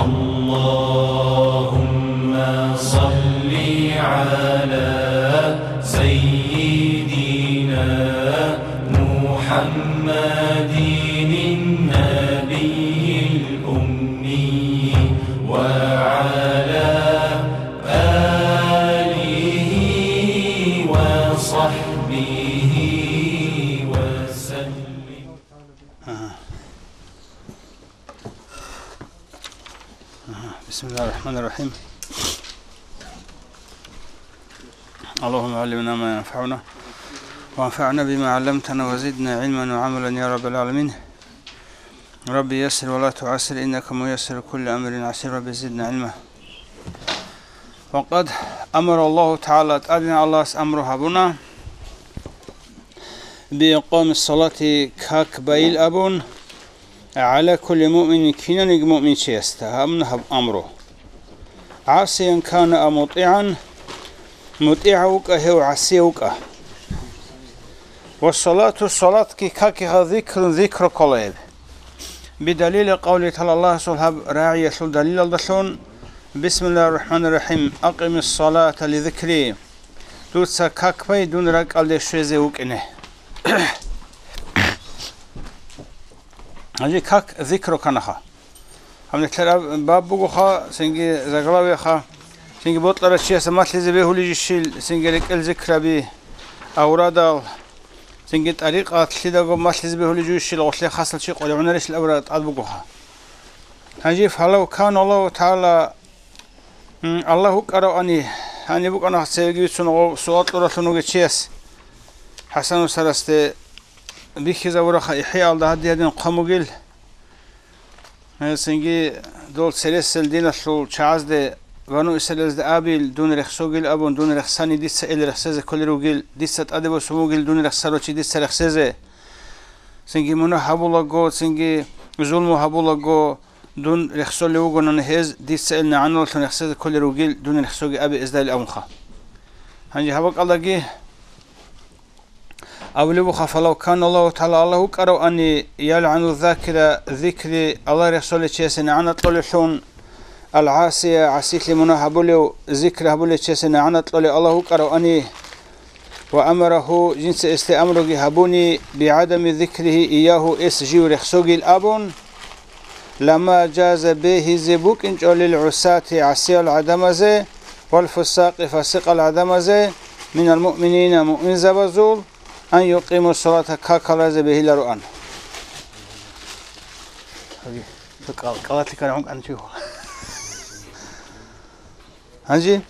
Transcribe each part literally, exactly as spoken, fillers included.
اللهم صل على سيدنا محمد النبي الأمي وعلى آله وصحبه وسلم. بسم الله الرحمن الرحيم. اللهم علمنا ما ينفعنا وانفعنا بما علمتنا وزدنا علما وعملا يا رب العالمين. رب يسر ولا تعسر إنك ميسر كل أمر عسير. رب زدنا علما. وقد أمر الله تعالى, ТӀадегӀан Аллагьас амру гьабуна, بإقام الصلاة, как байил абун, على كل مؤمن, кинаниги муъминчиясда гьабуна гьаб амру. عاصيا كان أو مطيعا, мутӀигӀав вукӀа гьев, гӀасияв вукӀа. والصلاة, салатги какиха, ذكر, зикру ккола гьеб. بدليل قوله تعالى, Аллагьасул гьаб рагӀиялъул далилалдалъун, بسم الله الرحمن الرحيم، أقم الصلاة لذكري. Дуца как бай дун ракӀалде щвезе вукӀине. Гьанже как зикру канаха. Гьаб нилъер баб бугоха, цинги заглавиеха, цинги бокьарав чиясда малъизе бегьулищил, цинги рекӀел зикраби, аврадал, цинги тӀарикъат лъидаго малъизе бегьулищил, гъолъе хасал чи къваригӀунарищил абураб тӀад бугоха. Гьанже, فلو كان الله تعالى, м, Аллагь вукӀаравани, гьаниб букӀана цевеги бицун гъов суал кьуралъун вугев чияс, ХӀасан устарасде бихьизабураха, ИхӀяалда гьадин-гьадин хъван бугел. Гьесинги дол цересел диналъул чагӀазде, бану Исраилазде абил, дун рехсогил абун, дун рехсани, дица ил рехсезе кколел ругел, дица тӀаде босун вугил, дун рехсарав чи дица рехсезе. Цинги мунагь гьабулаго, цинги зулму гьабулаго, дун рехсолев вугонани гьез, дица ил нагӀаналъун рехсезе кколел ругел, дун рехсоги абе эздайил абунха. Гьанже гьаб бакӀалдаги абулеб буха, فلو كان الله تعالى, Аллагь вукӀаравани, يلعن الذاكر, зикри, Аллагь рехсолев чиясе нагӀана кьолелъун, العاصي, гӀасилъи мунагь гьабулев, зикр гьабулев чиясе нагӀана кьолев Аллагь вукӀаравани, وأمره, жинца гьесде амруги гьабуни, بعدم ذكره إياه, гьес жив рехсогил абун, لما جاز, бегьизе букӀинчӀо, للعصاة, гӀасиял гӀадамазе, والفساق, фасикъал гӀадамазе, من المؤمنين, муъминзабазул, أن يقيموا الصلاة, какал разе бегьилароан. Гьанже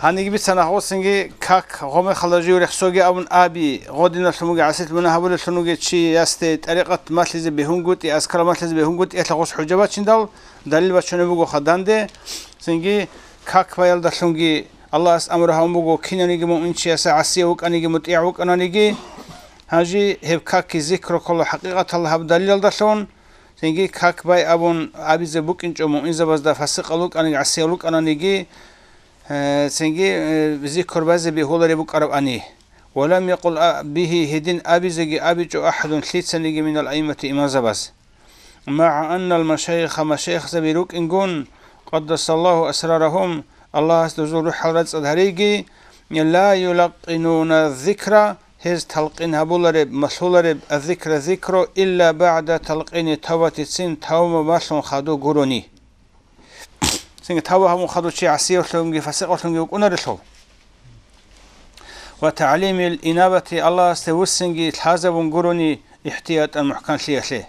гьаниги бицана гъосинги как, гъомехалда жив рехсоги абун аби, гъодиналъун вуги гӀасилъ мунагь гьабулелъун вуги чиясде тӀарикъат малъизе бегьунгутӀи, азкар малъизе бегьунгутӀи, гьелъа гъос хӀужа бачиндал, далил бачунеб бугоха данде, цинги как баялдалъунги Аллагьас амру гьабун буго, кинаниги муъминчияса гӀасияв вукӀаниги мутӀигӀ вукӀананиги, гьанже гьеб какги зикру ккола хӀакъикъаталда гьаб далилалдалъун, цинги как бай абун абизе букӀинчӀо муъминзабазда, фасикъал вукӀаниги гӀасиял вукӀананиги, э, цинги, э, зикр базе бегьулареб букӀарабани. ولم يقل به, гьедин абизеги абичӀо أحد, лъицаниги, من الأئمة, имамзабаз. مع أن المشايخ, машайихзаби рукӀингун, قدس الله أسرارهم, Аллагьас дозул рухӀал рацӀцӀад гьариги, لا يلقنون الذكر, гьез талкъин гьабулареб, малъулареб, الذكر, зикру, إلا بعد تلقين التوبة, цин тавба малъун хадуб гурони. Цинги тавба гьабун хадув чи гӀасиявлъунги фасикъавлъунги вукӀунарелъул. وتعليم الإنابة, Аллагьасде вуссинги лъазабун гурони ихтиятан мухӀканлъиялъе.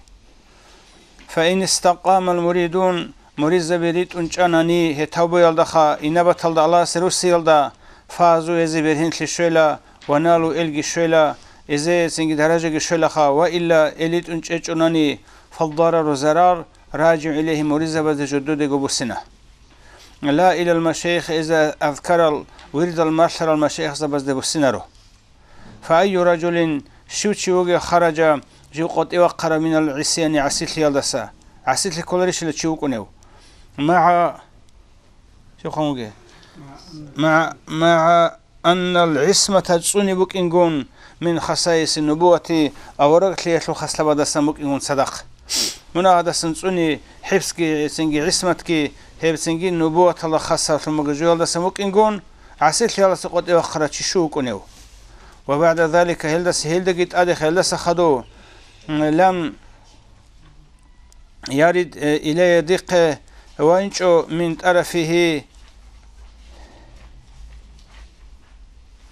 فإن استقام المريدون, муридзаби ритӀун чӀанани гьеб тавбуялдаха, инабаталда Аллагьасе руссиялда, فازوا, гьезие бергьенлъи щвела, ونالوا, элги щвела, гьезие цинги даражаги щвелаха, وإلا, гьел ритӀун чӀечӀонани, فالضرر, зарар, راجع إليهم, муридзабазде жододего буссина. لا إلى المشايخ, гьез азкарал, вирдал малъарал машайихзабазде буссинаро. فأي رجل, щив чи вугев, خرج, жив къотӀи вахъарав, من العصيان, гӀасилъиялдаса, гӀасилъи кколарищила чи вукӀунев, مع, щив хъан вугев? مع, مع أن العصمة, цӀуни букӀингун, من خصائص النبوة, авараглъиялъул хаслабадасан букӀингун цадахъ. Мунагьадасан цӀуни хӀифзги, цинги гӀисматги, гьеб цинги нубуваталда хасалъун бугеб жоялдасан вукӀингун, гӀасилъиялдаса къотӀи вахъарав чи щив вукӀунев? Ва багӀда залика, гьелдаса, гьелдаги тӀаде, гьелдаса хадув, м, лам ярид, э, илайя дихъе вайинчӀо мин тӀарафихьи.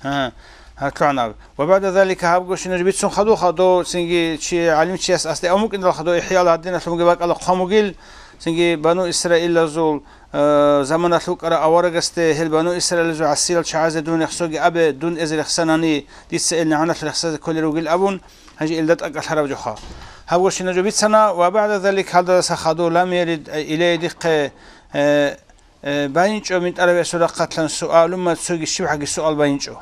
Гьа, гьа, лъугӀанаб. Ва баъда залика, гьабго щинаб бицун хадуха, дов цинги чи гӀалимчияс асде амукӀиндал хадув, ИхӀяал гьадиналъунги бакӀала хъван бугил, цинги Бану Исраилазул, э, заманалъ вукӀарав аварагасде, гьел Бану Исраилазул гӀасиял чагӀазе дун рехсоги абе, дун эзе рехсанани, дица ил нагӀаналъ рехсазе кколел ругил абун, гьанже илда тӀакӀалъараб жоха. Гьабго щинаб жо бицана, ва баъда залик, гьалдаса хадув лам ярид, э, илайя дихъе, э, Э, байинчӀо мин тӀарафихьи рахъалъан суалумма цоги щибгӀаги суал байинчӀо.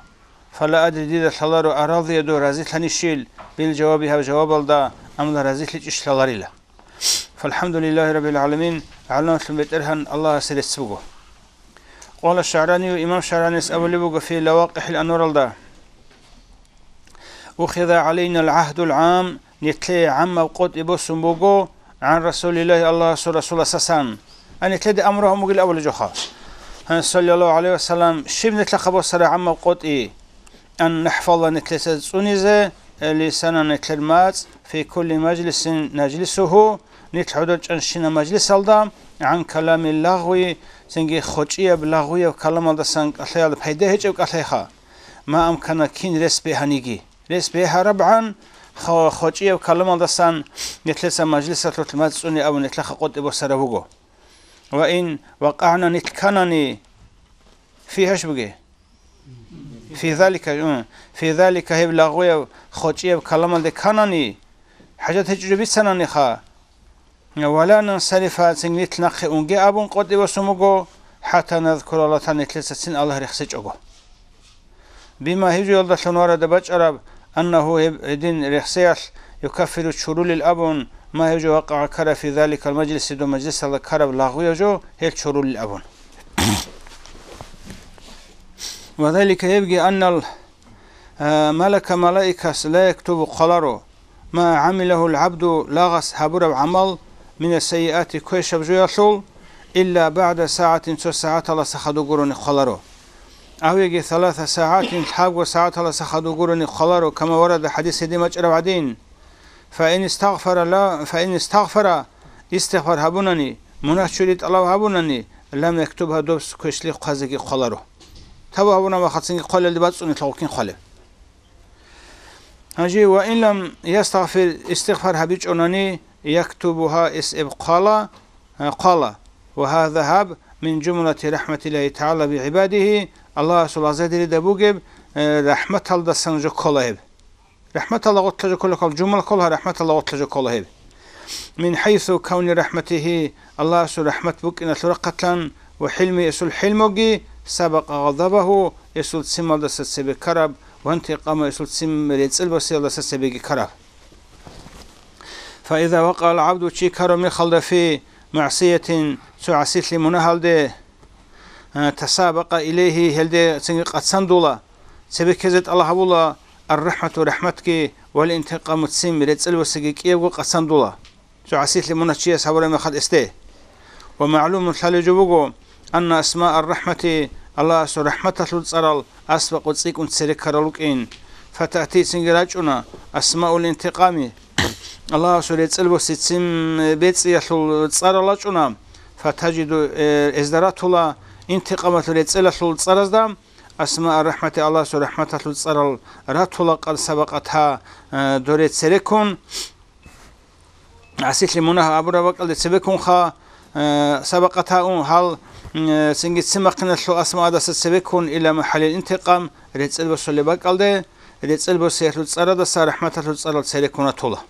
Фала адри, дида лъаларо, арадия дов разилъанищил, бил жаваби, гьаб жавабалда, амла разилъичӀищ лъаларила. ФалхӀамдулиллагьи раббил гӀаламин, гӀаламатлъун БетӀергьан Аллагьасе рецц буго. Къала ШагӀранию, имам ШагӀранияс абулеб буго фи Лавакъихьил анваралда: «Ухиза гӀалайнал гӀагьдул гӀам», нилъее гӀаммаб къотӀи босун буго, «гӀан Расулиллагьи», Аллагьасул Расуласасан. А, нилъеде амру гьабун бугил абулеб жоха. Гьан, саллаллагьу гӀалайгьи ва саллам, щиб нилъехъа босараб гӀаммаб къотӀи? «Ан нахӀфаза», нилъеца цӀунизе, «лисанана», нилъер мацӀ, «фи кулли мажлисин нажлисуху», нилъ гӀодор чӀанщинаб мажлисалда, «гӀан каламил лагъви», цинги хочӀияб лагъвияб каламалдасан кӀалъаялда пайда гьечӀеб кӀалъайха. «Ма амкана», кин рес бегьаниги. Рес бегьарабгӀан хо-, хочӀияб каламалдасан нилъеца мажлисалъулъ мацӀ цӀуни абун нилъехъа къотӀи босараб буго. «Ва ин вакъагӀна», нилъ кканани, фи гьаш буге? Фи залика, м, фи залика, гьеб лагъвияб, хочӀияб каламалде кканани, хӀажат гьечӀо бицананиха, «Ва ла нансарифа», цинги нилъ нахъе унге абун къотӀи босун буго, «хӀатта назкура Аллагь», нилъецацин Аллагь рехсечӀого. Бима, гьеб жоялдалъун варада бачӀараб, «аннагьу», гьеб гьедин рехсеялъ, «юкаффиру», чурулил абун, «ма», гьеб жо, «вакъагӀа», ккараб, «фи заликал мажлиси», доб мажлисалда ккараб лагъвияв жо, гьел чурулил абун. «Ва залика», гьебги, «аннал», а, «малака», малаикас, «ла яктубу», хъваларо, «ма гӀамилагьул гӀабду», лагъас гьабураб гӀамал, «мина сайиати», квешаб жоялъул, «илла багӀда сагӀатин», цо сагӀаталаса хадув гурони хъваларо. «Ав яги саласа сагӀатин», лъабго сагӀаталаса хадув гурони хъваларо, «кама варада», хӀадис гьедин бачӀараб гӀадин. «Фа ин истагъфара ла-, фа ин истагъфара», истигъфар гьабунани, мунагь чури тӀалаб гьабунани, «лам яктубгьа», доб квешлъи хъвазеги хъваларо. Тавба гьабуна ва хъацинги хъвалелде бацӀцӀуни лъугьуккин хъвалеб. Гьанже, «ва ин лам ястагъфир», истигъфар гьабичӀонани, «яктубугьа», эс эб хъвала, а, хъвала. «Ва гьаза», гьаб, «мин жумлати рахӀматиллагьи тагӀала бигӀибадигьи», Аллагьасул гӀазадирида бугеб, э, рахӀматалдасан жо ккола гьеб. РахӀматалда гъорлъа жо ккола ккол, жумла ккола, рахӀматалда гъорлъа жо ккола гьеб. «Мин хӀайсу кавни рахӀматигьи», Аллагьасул рахӀмат букӀиналъул рахъалъан, «ва хӀилми», эсул хӀилмуги, «сабакъа гъадабагьу», эсул ццималдаса цебе ккараб, «ва интикъаму», эсул ццим рецӀел босиялдаса цебеги ккараб. «Фа иза вакъа ал-гӀабду», чи ккараб мехалда, «фи магӀсиятин», цо гӀасилъи мунагьалде, а, «тасабакъа илайгьи», гьелде цинги къацандула, цебе ккезе тӀалаб гьабула, «ар-рахӀмату», рахӀматги, «вал-интикъаму», ццим рецӀел босиги кӀиябго къацандула. Цо гӀасилъи мунагь чияс гьабураб мехалъ эсде. «Ва магӀлумун», лъалеб жо буго, «анна асмаа ар-рахӀмати», Аллагьасул рахӀматалъул цӀарал, «асбакъу», цӀикӀкӀун цере ккарал рукӀин. «Фатаъти», цинги рачӀуна, «асмаул интикъами», Аллагьасул рецӀел босиялъул ццим бецӀиялъул цӀарал рачӀуна. «Фатажиду», э, эзда ратула, «интикъамалъул», рецӀелалъул цӀаразда, «асмаа ар-рахӀмати», Аллагьасул рахӀматалъул цӀарал ратула, «къад сабакъатгьа», э, доре цереккун. ГӀасилъи мунагь абураб бакӀалде цебеккунха, э, «сабакъатгьа», ун, гьал, э, цинги ццим бахъиналъул асмаадаса цебеккун, «ила махӀаллил интикъам», рецӀел босулеб бакӀалде, рецӀел босиялъул цӀарадаса рахӀматалъул цӀарал цереккун ратула.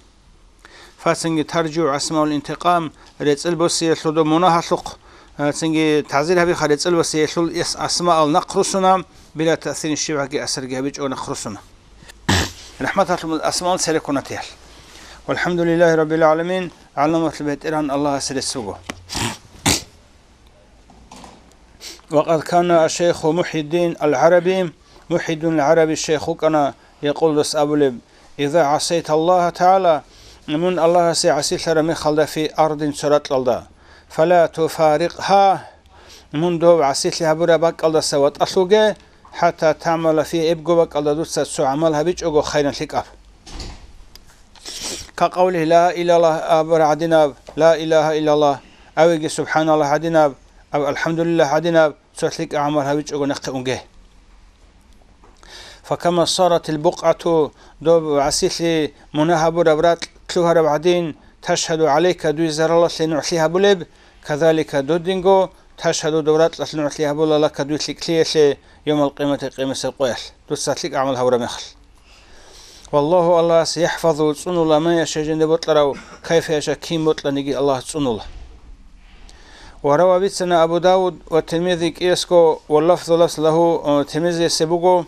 «Фа», цинги «таржигӀу асмаул интикъам», рецӀел босиялъул доб мунагьалъухъ, э, цинги «тагӀзир гьабиха», рецӀел босиялъул ас-, асмаал нахъ руссуна, «била таъсирин», щибгӀаги асарги гьабичӀого нахъ руссуна. РахӀматалъул асмаал цереккун ратиялъ. ВалхӀамдулиллагьи раббил гӀаламин, гӀаламатлъи БетӀергьан Аллагьасе рецц буго. «Ва къад кана аш-шайху МухӀиддин ал-ГӀараби», МухӀиддин ал-ГӀараби шайх вукӀана, «якъул», дос абулеб: «Иза гӀасайта Аллагьа тагӀала», мун Аллагьасе гӀасилъараб мехалда фи ардин цо ракьалда, фала туфарикъгьа, мун дов гӀасилъи гьабураб бакӀалдаса ватӀалъуге, хӀатта тагӀмала фи, эбго бакӀалда дуца цо гӀамал гьабичӀого хайран лъикӀаб. Ка къавлигьи ла илаллагь абураб гӀадинаб, ла илагьа иллаллагь, авиги субхӀаналлагь гӀадинаб, аб алхӀамдулиллагь гӀадинаб, цо лъикӀаб гӀамал гьабичӀого нахъе унге. Факама саратил букъгӀату, доб гӀасилъи мунагь гьабураб ракь лъугьараб гӀадин, ташгьаду гӀалайка, дуй заралалъе нугӀлъи гьабулеб, казалика додинго ташгьаду, доб ракьалъ нугӀлъи гьабула, лака, дуй лъикӀлъиялъе, йомал къиямати, къиямасеб къоялъ, дуца лъикӀ гӀамал гьабураб мехалъ. Валлагьу, Аллагьас, яхӀфазу, цӀунула, ман яша, жинда бокьарав, кайфа яша, кин бокьаниги Аллагьас цӀунула. Ва рава, бицана Абу Давуд ва Тирмизи кӀиясго, ва лафзу лафз лагьу, э, Тирмизиясе буго,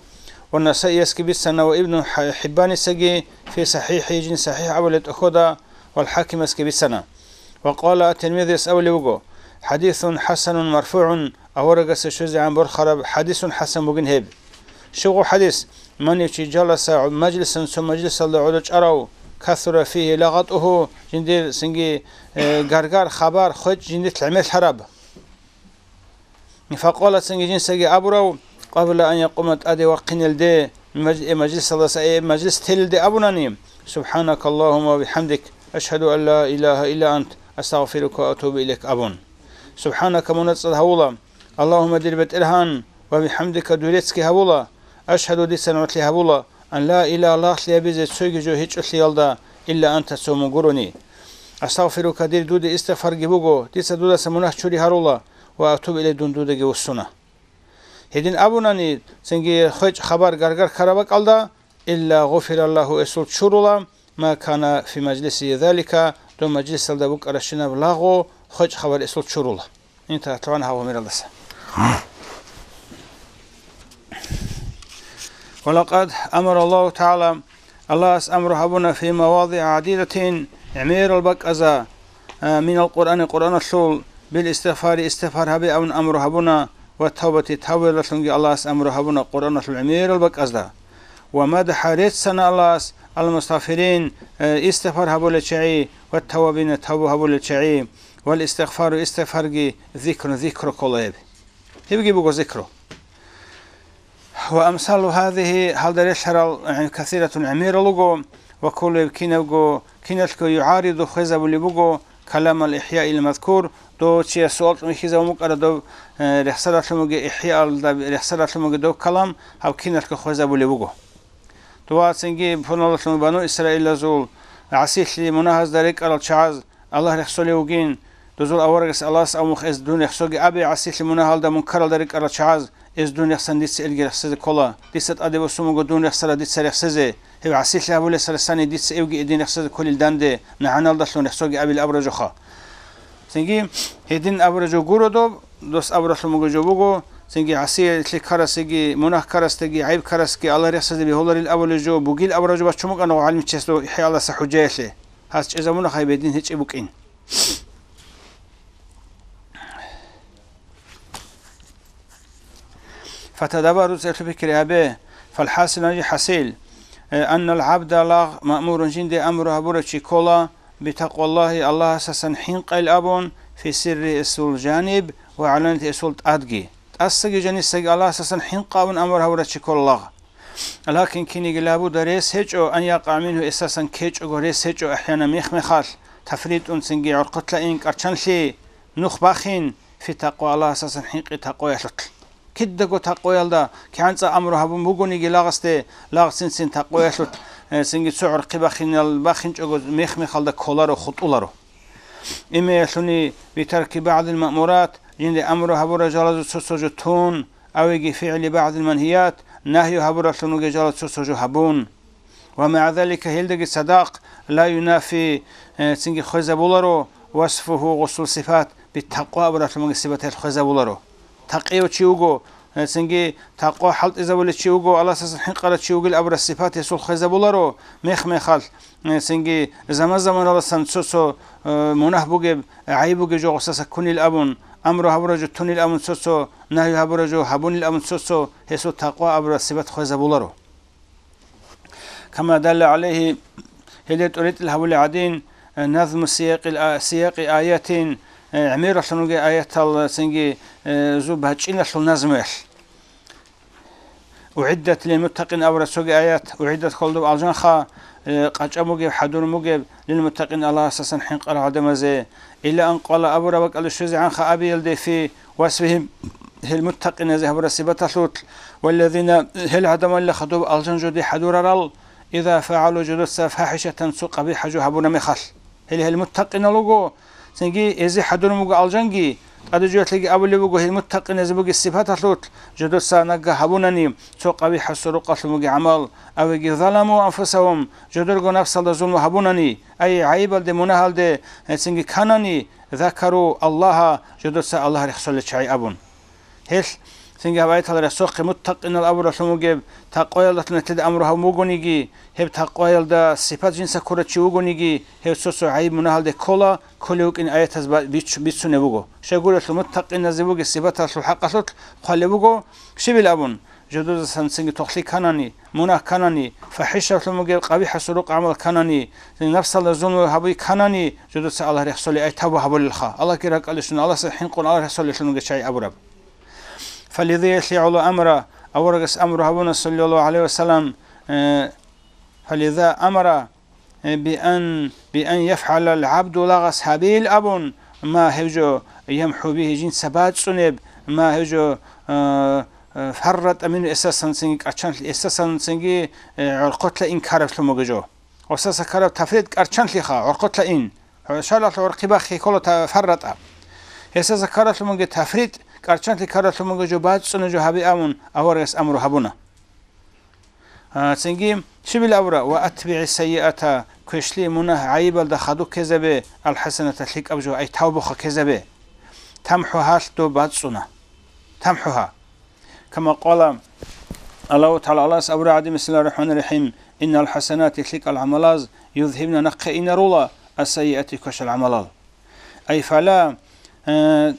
ва Насаиясги бицана, ва Ибну Хьа-, ХӀиббанисаги фи сахӀихӀи, жин сахӀихӀ абулеб тӀохьода, вал ХӀакимасги бицана. Ва къала, Тирмизияс абулеб буго, хӀадисун хӀасанун марфугӀун, аварагасе щвезегӀан борхараб хӀадисун хӀасан бугин гьеб. Щиб гъо хӀадис? Ман чи жаласа мажлисан, цо мажлисалда гӀодов чӀарав, касура фигьи лагъатӀугьу, жиндир цинги, э, гаргар, хабар, хвечӀ жиндилъ гӀемерлъараб. Факъала, цинги жинсаги абурав, къабла ан якъума, тӀаде вахъинелде, маж-, э, мажлисалдаса, э, мажлис телелде абунани, субхӀанакаллагьумма ва бихӀамдик, ашгьаду ан ла илагьа илла ант, астагъфирука ва атубу илайк абун. СубхӀанака, мун цӀцӀад гьавула, Аллагьумма, дир БетӀергьан, ва бихӀамдика, дуй реццги гьавула, ашгьаду, дица нугӀлъи гьабула, ан ла илагьа, лагълъи гьабизе цойги жо гьечӀолъиялда, илла анта, цо мун гурони. Астагъфирука, дир дуде истигъфарги буго, дица дудаса мунагь чури гьарула, ва атубу илайк, дун дудаги вуссуна. Гьедин абунани, цинги хвечӀ, хабар, гаргар ккараб бакӀалда, илла гъуфираллагьу, эсул чурула, ма кана фи мажлисигьи залика, доб мажлисалда букӀарабщинаб лагъу, хвечӀ, хабар эсул чурула. Инталъугьан гьав гьумералдаса. Ва лакъад амара Аллагьу тагӀала, Аллагьас амру гьабуна, фи мавадигӀа гӀадидатин, гӀемерал бакӀаза, а, минал Къуръани, Къуръаналъул, бил истигъфари, истигъфар гьабе абун амру гьабуна, ва тавбати, тавбаялдалъунги Аллагьас амру гьабуна Къуръаналъул гӀемерал бакӀазда. Ва мадахӀа, реццана Аллагьас, ал мустагъфирин, э, истигъфар гьабулел чагӀи, ва таввабина, тавба гьабулел чагӀи, вал истигъфару, истигъфарги, зикрун, зикру ккола гьеб. Гьебги буго зикру. Ва амсалу гьазихьи, гьалда релълъарал, э, касиратун, гӀемерал руго, ва кколеб кинабго, киналъго югӀариду, хвезабулеб буго, каламал ихӀяил мазкур, дов чияс суал кьун хьизабун букӀара доб, э, рехсаралъумаги ихӀяалда, рехсаралъумаги доб калам гьаб киналъго хвезабулеб буго. Дова цинги пуналалъун бану Исраилазул гӀасилъи мунагьазда рекӀарал чагӀаз Аллагь рехсолев вугин, дозул аварагас Аллагьас абун буго, эс дун рехсоги абе, гӀасилъи мунагьалда мункаралда рекӀарал чагӀаз, эс дун рехсан дица элги рехсезе ккола, дица тӀаде босун буго дун рехсарал дица рехсезе, гьев гӀасилъи гьабулесарасани дица эвги эдин рехсезе кколил данде, нагӀаналдалъун рехсоги абил абуражуха. Цинги гьедин абуражу гуро доб, дос абуралъун буго жо буго, цинги гӀасилъи ккарасеги, мунагь ккарасдаги, гӀайиб ккарасги Аллагь рехсезе бегьуларил абулел жо бугил абуражу бачун букӀана гӀалимчиясда ихӀяалдаса хӀужаялъе. Гьас чӀезабуна хай бедин гьечӀеб букӀин. Фатадаббару, цеблъи пикри гьабе. ФалхӀасил, гьанже хӀасил, э, аннал гӀабда, лагъ, маъмурун, жинде амру гьабурав чи ккола, битакъваллагьи, Аллагьасасан хӀинкъайил абун, фи сирри, эсул жаниб, ва гӀаланияти, эсул тӀадги. ТӀасаги жанисаги Аллагьасасан хӀинкъа абун амру гьабурав чи ккола, лагъ. Лакин кинеги лабуда, рес гьечӀо, ан якъа мингьу, эсасан ккечӀого рес гьечӀо, ахӀяна мех-мехалъ, тафритӀун, цинги гӀорхъолъа ин, кӀарчанлъи, нух бахин, фи такъва, Аллагьасасан хӀинкъи такъваялъулъ. Кидаго такъваялда кигӀан цӀакъ амру гьабун бугониги лагъасде, лагъ цин-цин такъваялъулъ, э, цинги цо гӀорхъи бахинал-, бахинчӀого мех-мехалда кколаро, хутӀуларо. Имеялъуни битарки багӀдил маъмурат, жинде амру гьабурал жалазул цо-цо жо тун, авиги фигӀли багӀдил манхият, нагью гьабураллъун вугел жалазул цо-цо жо гьабун. Ва магӀа залика, гьелдаги цадахъ, ла юнафи, э, цинги хвезабуларо, васфугьу, гъусул сипат, битакъва абуралъумаги сипаталъ хвезабуларо. Такъияв чи вуго, э, цинги такъва хӀалтӀизабулев чи вуго, Аллагьасасан хӀинкъарав чи вугил абураб сипат гьесул хвезабуларо, мех-мехалъ, э, цинги заман-заманаласан цо-цо, э, мунагь бугеб, гӀайиб бугеб жо гъусаса ккунил абун, амру гьабурав жо тунил абун цо-цо, нагью гьабурав жо гьабунил абун цо-цо, гьесул такъва абураб сипат хвезабуларо. Кама далла гӀалайгьи, Гьеле тӀоритӀил гьабулел гӀадин, э, назму сиякъил а-, сиякъи аятин, э, гӀемералъун ругел аятал, э, цинги, э, зу бачӀиналъул назмуялъ. «УгӀиддат лилмуттакъин» абураб цоги аят, угӀиддат холдуб алжанха, э, къачӀа бугеб, хӀадур бугеб, лилмуттакъин Аллагьасасан хӀинкъарал гӀадамазе. Ила ан къала абураб бакӀалде щвезегӀанха абиялде фи васфихим, гьел муттакъиназе гьабураб сипаталъулъ, валлазина, гьел гӀадамалила хадуб алжан жуди хӀадурарал, иза фагӀалу жудуца фахӀишатан цо къабихӀа жо гьабуна мехалъ. Гьел, гьел муттакъинал руго, цинги эзи хӀадурун буго алжанги, тӀаде жоялъеги абулеб буго, гьел муттакъиназе бугеб сипаталъулъ, жодоца нагагь гьабунани, цо къабихӀасул рукъалъун бугеб гӀамал, авеги заламу анфусагьум, жодорго напсалда зулму гьабунани, ай гӀайибалде, мунагьалде, э, цинги канани, закару Аллагьа, жодоца Аллагь рехсолел чагӀи абун. Гьелъ цинги гьаб аяталда рехсохъе муттакъинал абуралъун бугеб, такъваялдалъун нилъеда амру гьабун бугониги, гьеб такъваялда сипат жинца ккурав чи вугониги, гьев цо-цо гӀайиб-мунагьалде ккола, кколев вукӀин аятаз ба-, бич-, бицунеб буго. Щайгурелъул муттакъиназе бугеб сипаталъул хӀакъалъулъ хъвалеб буго, щибил абун, жодозасан цинги тохлъи канани, мунагь канани, фахӀишалъун бугеб къабихӀасул рукъ гӀамал канани, напсалда зулму гьабуй канани, жодоца Аллагь рехсолей ай тавба гьабулелха, Аллагьги ракӀалде щун, Аллагьасда хӀинкъун Аллагь рехсолелъун бугеб чагӀи абураб. Фалидиялъе гӀоло амра, аварагас амру гьабуна, саллаллагьу гӀалайгьи вассалам, э, фалида амра, э, биан, биан яфгӀалал гӀабду лагъас гьабил абун, ма гьев жо ямхӀу бигьи жинца бацӀцӀунеб, ма гьев жо, э, э, фарратӀа мингьу эсасанцинги кӀарчан-, эсасанцинги, э, гӀорхъолъа инкараблъун бугеб жо. Гьесаса ккараб тафрит кӀарчанлъиха, гӀорхъолъа ин. ШаргӀалъ гӀорхъи бахъи ккола та-, фарратӀа. Гьесаса ккаралъумаги тафрит, кӀарчанлъи ккаралъумаги жо бацӀцӀуна жо гьабе абун, аварагас амру гьабуна. А, цинги, щибил абура, «Ва атбигӀи сайиата», квешлъи мунагь гӀайибалда хадуб ккезабе, «алхӀасаната», лъикӀаб жо, ай тавбуха ккезабе. ТамхӀугьалъ доб бацӀцӀуна. ТамхӀугьа. Кама къала Аллагьу ТагӀала, Аллагьас абура гӀадин, бисмиллагьир рахӀманир рахӀим, «Иннал хӀасанати», лъикӀал гӀамалаз, «юзгьибна», нахъе инарула, «ас-сайиати», квешал гӀамалал. Ай фала, э,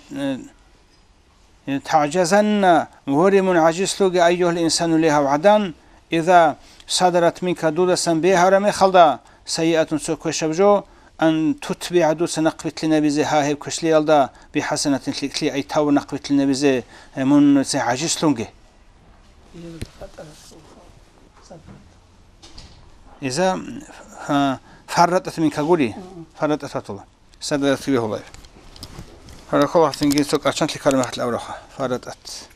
э, «тагӀжазанна», воре мун гӀажизлъуге, «айюгьал инсану», ле гьав гӀадан, «иза садарат минка», дудасан бегьараб мехалда, «сайиатун», цо квешаб жо, «ан тутбигӀа», дуца нахъбилълъинабизе, гьа, гьеб квешлъиялда, «бихӀасанатин», лъикӀлъи, ай тавбу нахъбилълъинабизе, э, мун цо гӀажизлъунги. Иза, а, фарратӀат минка гури, фарратӀат ватула. Садарат бегьулай. Гьаракъалахъ цинги цо кӀарчанлъи ккараб мехалъ абураха, фарратӀат.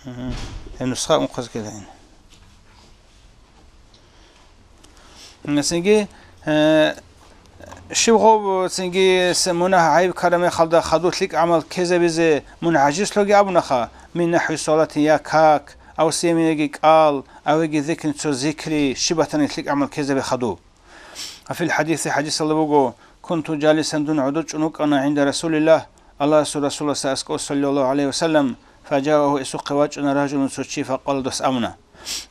Мгм. Гьеб нусха унхъазги лаин. Цинги, э, щиб гъов цинги с-, мунагь гӀайиб ккараб мехалда хадуб лъикӀ гӀамал ккезабизе мун гӀажизлъуге абунаха, мин нахӀви салатин, я как, ав сиямин, яги кӀал, авеги зикрин, цо зикри, щиб батани лъикӀ гӀамал ккезабе хадуб. Ва фил хӀадиси, хӀадисалда буго, кунту жалисан, дун гӀодор чӀун вукӀана, гӀинда Расулиллагь, Аллагьасул Расуласда аскӀов, саллаллагьу гӀалайгьи ва саллам, фажаагьу, гьесухъе вачӀана ражулун, цо чи, факъала, дос абуна: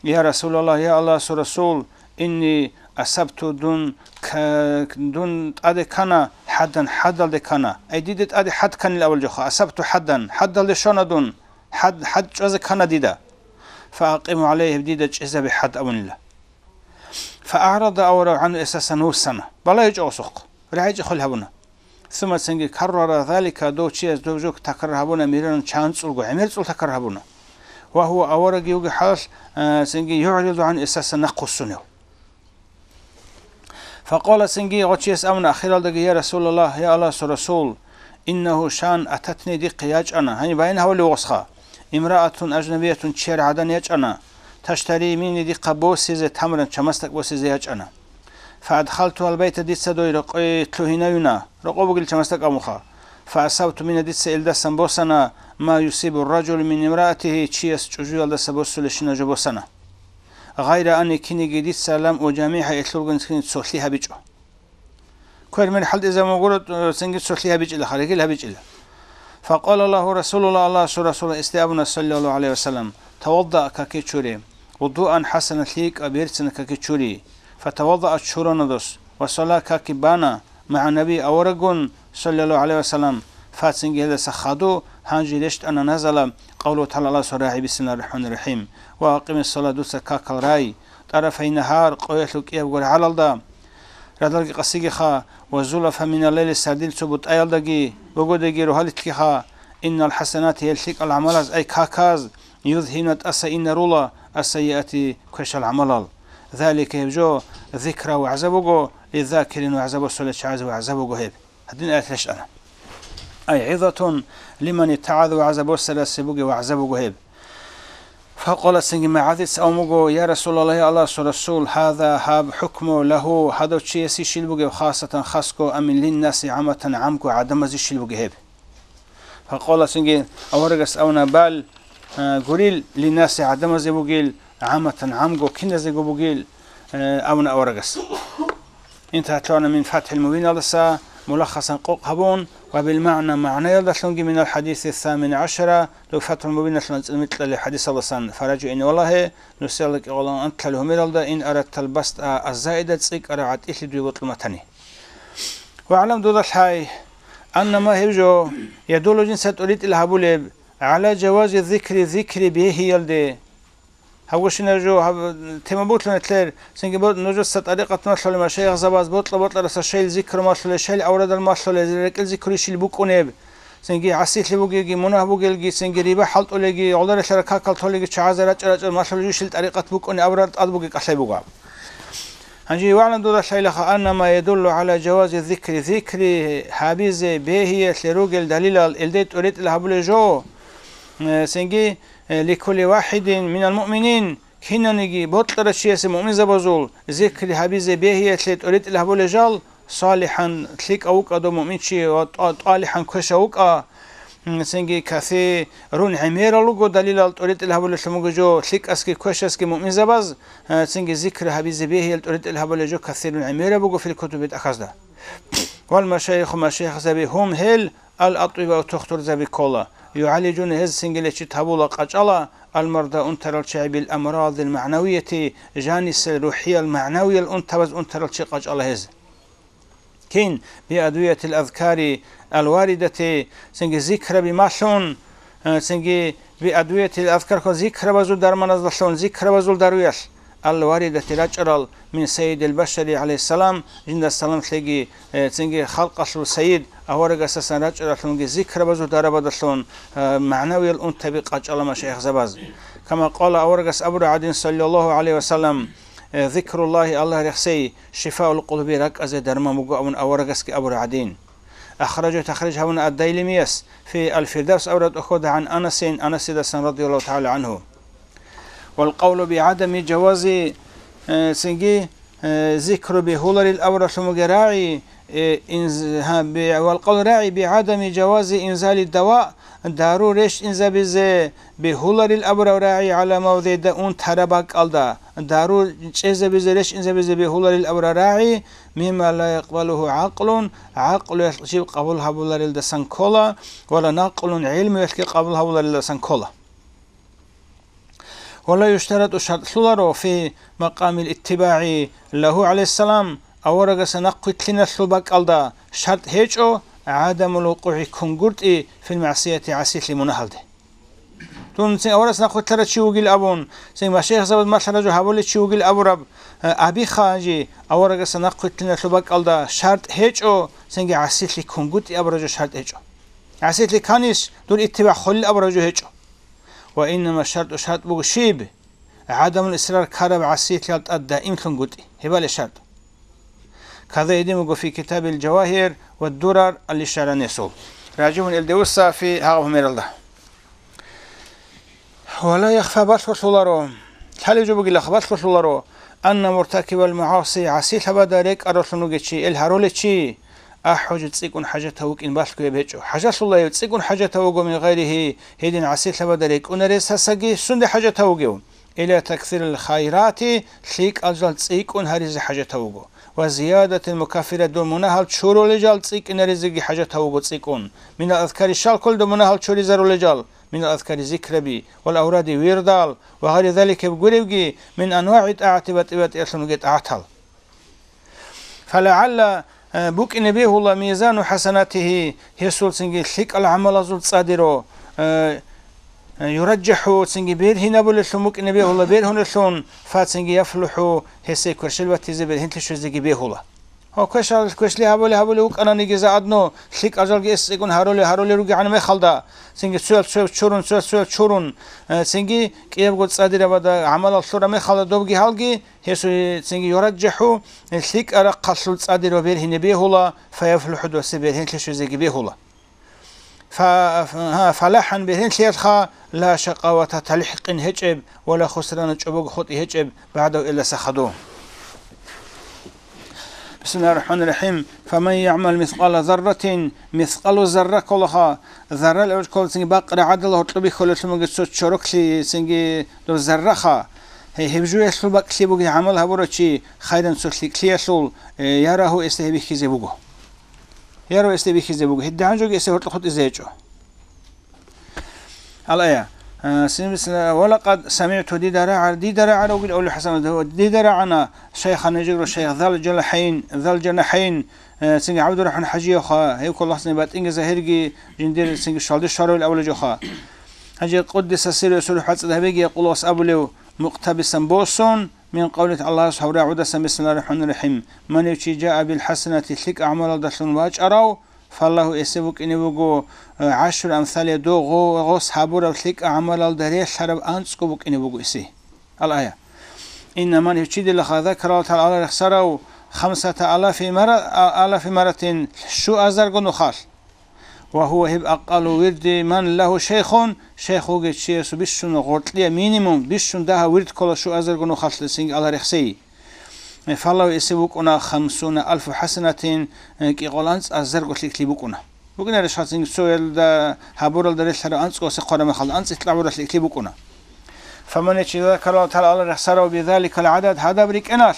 «Я Расулаллагь, я Аллагьасул Расул, инни асабту, дун к-, дун тӀаде ккана, хӀаддан, хӀадалде ккана». Ай, дида тӀаде хӀад кканила абулеб жоха, асабту хӀаддан, хӀадалде щвана дун, хӀад, хӀад чӀвазе ккана дида. Фаакъиму гӀалайгьи, дида чӀезабе хӀад абунила. ФаагӀрада аварагьу гӀангьу, эсасан вуссана. БалагьичӀо гъосухъ. РагӀичӀеб хвел гьабуна. Сумма, цинги, каррара залика, дов чияс доб жо такрар гьабуна, мираран, чанцӀулго, гӀемерцӀул такрар гьабуна. Ва гьува, аварагги вугеб хӀалалъ, а, цинги, югӀриду гӀангьу, эсасан нахъвуссунев. Факъала, цинги, гъо чияс абуна ахиралдаги: «Я Расулаллагь, я Аллагьасул Расул, иннагьу, шан, ататни, дихъе ячӀана», гьаниб баян гьабулев гъосха, «имраатун ажнабиятун», чияр гӀадан ячӀана, «таштари минни», дихъа босизе, «тамран», чамасдакӀ босизе ячӀана. «Фаадхалтугьал байта», дица дой рокъое лъугьинаюна, рокъо бугел чамасдакӀ абунха. «Фаасабту мингьа», дица илдасан босана, «ма юсибу ражулу мин имраатигьи», чияс чӀужуялдаса босулебщинаб жо босана. «Гъайра анни», киниги дица, «лам уджамигьа», гьелъулгун цинги цолъи гьабичӀо. Квер-мер хӀалтӀизабун бугуро, цинги цолъи гьабичӀила, регил гьабичӀила. Факъала лагьу Расулуллагь, Аллагьасул Расул гьесде абуна, саллаллагьу гӀалайгьи ва саллам: «Тавадда», каки чури, «вудуан хӀасана», лъикӀаб берцинаб каки чури. Фатаваддаа, чурана дос, ва салла, каки бана, магӀа Наби, авараггун, саллаллагьу гӀалайгьи ва саллам, фа, цинги гьелдаса хадуб, гьанже рещтӀана назала, къавлу тагӀала, Аллагьасул рагӀи, бисмиллагьир рахӀманир рахӀим, «ва акъимис салат», дуца какал рай, طرفي النهار, къоялъул кӀиябго рагӀалалда, радалги къасигиха, وزلفا من الليل, сардил цо бутӀаялдаги, богодеги рогьалилъгиха, إن الحسنات, гьел лъикӀал гӀамалаз, أي каказ, يذهبن, тӀаса инарула, السيئات, квешал гӀамалал. ذلك, гьеб жо, ذكرى, вагӀза буго, للذاكرين, вагӀза босулел чагӀазе вагӀза буго гьеб. Гьадин аят рещтӀана. أي عظة لمن اتعظ, вагӀза босарасе бугеб вагӀза буго гьеб. فقال, цинги МугӀазица абун буго: يا رسول الله, Аллагьасул Расул, هذا, гьаб, حكم له, гьадав чиясе щил бугеб, خاصة, хасго, أم للناس عامة, гӀамго гӀадамазе щил бугеб гьеб? فقال, цинги аварагас абуна: بل, а, гурел, للناس, гӀадамазе бугел, عامة, гӀамго киназего бугел, а, абуна аварагас. انتهى, лъугьана من فتح المبين алдаса, мулаххасан къокъ гьабун, وبالمعنى, магӀнаялдалъунги من الحديث الثامن عشر, дов Фатхул Мубиналъул анцӀила микьалъ хӀадисалдасан, فرجع, ине валагье, нусиялда кӀикъоялда анлъалел гьумералда, إن أردت البسط الزائد, цӀикӀкӀараб гӀатӀилъи дуе бокьун батани. واعلم, дуда лъай, أن ما, гьеб жо, يدل, жинца тӀоритӀила гьабулеб, على جواز الذكر, зикри бегьиялде. Гьабгощинаб жо, гьаб тема бутлъун гьетлъер, цинги бо-, нужеца тӀарикъат малъулел машаихзабаз бокьа-бокьараса щайил зикру малъулел, щайил аврадал малъулел, рекӀел зикру щил букӀунеб, цинги гӀасилъи бугелги, мунагь бугелги, цинги риба хӀалтӀулелги, гӀоларелъарал какал толелги, чагӀазе рачӀа-рачӀа малъулел жо щил тӀарикъат букӀунеб абурал тӀад бугеб кӀалъай буго. Гьанже واعلم, дуда лъайлаха, أن ما يدل على جواز الذكر, зикри гьабизе бегьиялъе ругел далилал, илдай тӀоритӀила гьабулел жо, э, цинги, э, لكل واحد من المؤمنين, кинаниги бокьарав чиясе муъминзабазул зикри гьабизе бегьиялъе тӀоритӀила гьабулел жал, صالحا, лъикӀав вукӀа дов муъминчи ва тӀа-, طالحا, квешав вукӀа, м, цинги كثير гӀемерал руго далилал тӀоритӀила гьабулеллъун буго жо лъикӀасги квешасги муъминзабаз, э, цинги зикр гьабизе бегьиял тӀоритӀила гьабулел жо كثير гӀемераб буго في الكتب, тӀахьазда. والمشايخ, машаихзаби, هم, гьел, الأطباء, тухтурзаби ккола, يعالجون, гьез цинги лечит гьабула, къачӀала, المرضى, унтарал чагӀи, بالأمراض المعنوية, жанисел, рухӀиял, магӀнавиял унтабаз унтарал чи къачӀала гьез. Кин? بأدوية الأذكار الواردة, цинги зикраби малъун, э, цинги بأدوية الأذكار, зикрабазул дарманазалъун, зикрабазул даруялъ, الواردة, рачӀарал, من سيد البشر عليه السلام, жинда салам лъеги, э, цинги халкъалъул сайид аварагасдасан рачӀаралъунги зикрабазул дарабадалъун, э, магӀнавиял унтаби къачӀала машаихзабаз. كما قال, аварагас абураб гӀадин, صلى الله عليه وسلم, э, ذكر الله, Аллагь рехсей, شفاء القلوب, ракӀазе дарман буго абун аварагасги абураб гӀадин. أخرجه, тахриж гьабуна ад-Дайламияс, في الفردوس абураб тӀохьода, عن أنس, Анасидасан, رضي الله تعالى عنه. والقول بعدم جواز, э, цинги, э, зикру бегьуларил абуралъун бугеб рагӀи, э, инз-, гьа, бе-, والقول, рагӀи, بعدم جواز إنزال الدواء, дару рещтӀинзабизе бегьуларил абураб рагӀи, على موضع الداء, унтараб бакӀалда дару чӀезабизе, рещтӀинзабизе бегьуларил абураб рагӀи, مما لا يقبله عقل, гӀакълуялъ жиб къабул гьабуларилдасан ккола, ولا نقل, гӀелмуялъги къабул гьабуларилдасан ккола. ولا يشترط, шартӀлъуларо, في مقام الاتباع له عليه السلام, аварагасда нахъвилълъиналъул бакӀалда шартӀ гьечӀо, عدم الوقوع, ккунгутӀи, في المعصية, гӀасилъи, мунагьалде. Дун цин аварагасда нахъвилълъарав чи вугил абун, цин машаихзабаз малъарав жо гьабулев чи вугил абураб, э, абиха гьанже, аварагасда нахъвилълъиналъул бакӀалда шартӀ гьечӀо, цинги гӀасилъи, ккунгутӀи абурав жо шартӀ гьечӀо. ГӀасилъи кканищ, дур иттибагӀ холел абурав жо гьечӀо. وإنما الشرط, шартӀ буго щиб? عدم الإصرار, ккараб гӀасилъиялда тӀад даимлъунгутӀи, гьебали шартӀ. Каде гьедин буго في كتاب الجواهر والدرر الإشارة несул. Ражибун илдевуса фи гьагъаб гьумералда. ولا يخفى, балъголъуларо, лъалеб жо бугилаха, балъголъуларо, أن مرتكب المعاصي, гӀасилъабазда рекӀаралъун вугев чи, ил гьарулев чи, أحوج, цӀикӀкӀун хӀажатав вукӀин балъго гьеб гьечӀо. ХӀажалъула гьев, цӀикӀкӀун хӀажатав вуго من غيره, гьедин гӀасилъабазда рекӀунаресасаги сунде хӀажатав вугев. إلى تكثير الخيرات, лъикӀал жал цӀикӀкӀун гьаризе хӀажатав вуго. وزيادة المكفرات, дун мунагьал чурулел жал цӀикӀкӀинаризеги хӀажатав вуго цӀикӀкӀун. من الأذكار, щал кколел дун мунагьал чуризарулел жал. من الأذكار, зикраби, والأوراد, вирдал, وغير ذلك, гьеб гуребги, من أنواع الطاعة, батӀи-батӀиялъун бугеб тӀагӀатал. فلعل, э, букӀине бегьула, ميزان حسناته, гьесул цинги лъикӀал гӀамалазул цӀадиро, э, Э, юраджахӀу, цинги бергьинабулелъун букӀине бегьула, бергьунелъун, фа, цинги яфлухӀу, гьесие кверщел батизе, бергьенлъи щвезеги бегьула. Гьав квешал-, квешлъи гьабули-гьабули вукӀананиги, заодно лъикӀал жалги эс цӀикӀкӀун гьарули-гьарули ругегӀан мехалда, цинги цоял-цояв чурун, цоял-цояв чурун, э, цинги кӀиябго цӀадирабада гӀамалал лъура мехалда добги гьалги, гьесул цинги юраджахӀу, э, лъикӀал рахъалъул цӀадирав бергьине бегьула, фа яфлухӀу, досе бергьенлъи щвезеги бегьула. Фа-, фа-, гьа, фалахӀан бергьенлъиялъха, ла шакъавата, талихӀ-къин гьечӀеб, ва ла хусрана, чӀобого хутӀи гьечӀеб, багӀдагьу, эсдаса хадув. Бисмиллагьир рахӀманир рахӀим. Фаман ягӀмал мискъала зарратин, мискъалу зарра кколаха, заррал гӀуркколацинги бакъ рагӀадала гьоркьоб бихьулелъун бугеб цо чороклъи, цинги доб зарраха. Гье, гьеб жуялъул бакӀлъи бугеб гӀамал гьабурав чи, хайран, цо лъикӀлъиялъул, э, ярагьу, эсда гьеб бихьизе буго. Яру эсде бихьизе буго, гьедигӀан жоги эсде гьоркьоб хутӀизе гьечӀо. Алая, а, син бисла, ва лакъад самигӀту, дида рагӀар, дида рагӀар вугил авлу ХӀасан, дида рагӀана шайхана, жигру шайх, зал жанахӀайн, зал жанахӀайн, э, цинги ГӀабдурахӀман ХӀажиевха, гьев кколахъ цинги батӀинги загьирги жиндир цинги шалде шаруил авлу жоха. ХӀажи, къуддиса сирругьу, сурухӀ бацӀцӀад гьабиги, якъулу, ас абулев, мукътабисан босун, мин къавлихи, Аллагьас гьав рагӀудасан, бисмиллагьир рахӀманир рахӀим, ман гьев чи жаа бил хӀасанати, лъикӀа гӀамалалдалъун вачӀарав, фаллагьу, эсеб букӀине буго, э, гӀашру амсалиха, дов гъо-, гъос гьабураб лъикӀа гӀамалалда релълъараб анцӀго букӀине буго эсе. Ал-ая. Инна, ман гьев чи, дилаха, закара Аллагь ТагӀала, Аллагь рехсарав, хамсата алафи мара-, а-, алафи маратин, щуазарго нухалъ. Ва гьува, гьеб, акъалу вирди ман лагьу шайхун, шайх вугев чиясул бищун гъоркьия, минимум, бищун дагьаб вирд ккола щуазарго нухалъ, цинги Аллагь рехсей. Фаллагьу, эсеб букӀуна хамсуна алфу хӀасанатин, э, кӀикъоялда анцӀазарго лъикӀлъи букӀуна. БукӀунарищха, цинги цоялда гьабуралда релълъараб анцӀго эсе хъвараб мехалда, анцӀила гьабураб лъикӀлъи букӀуна. Фаман, гьев чи, закара Аллагь ТагӀала, Аллагь рехсарав, бизаликал гӀадад, гьадаб рикӀкӀиналъ,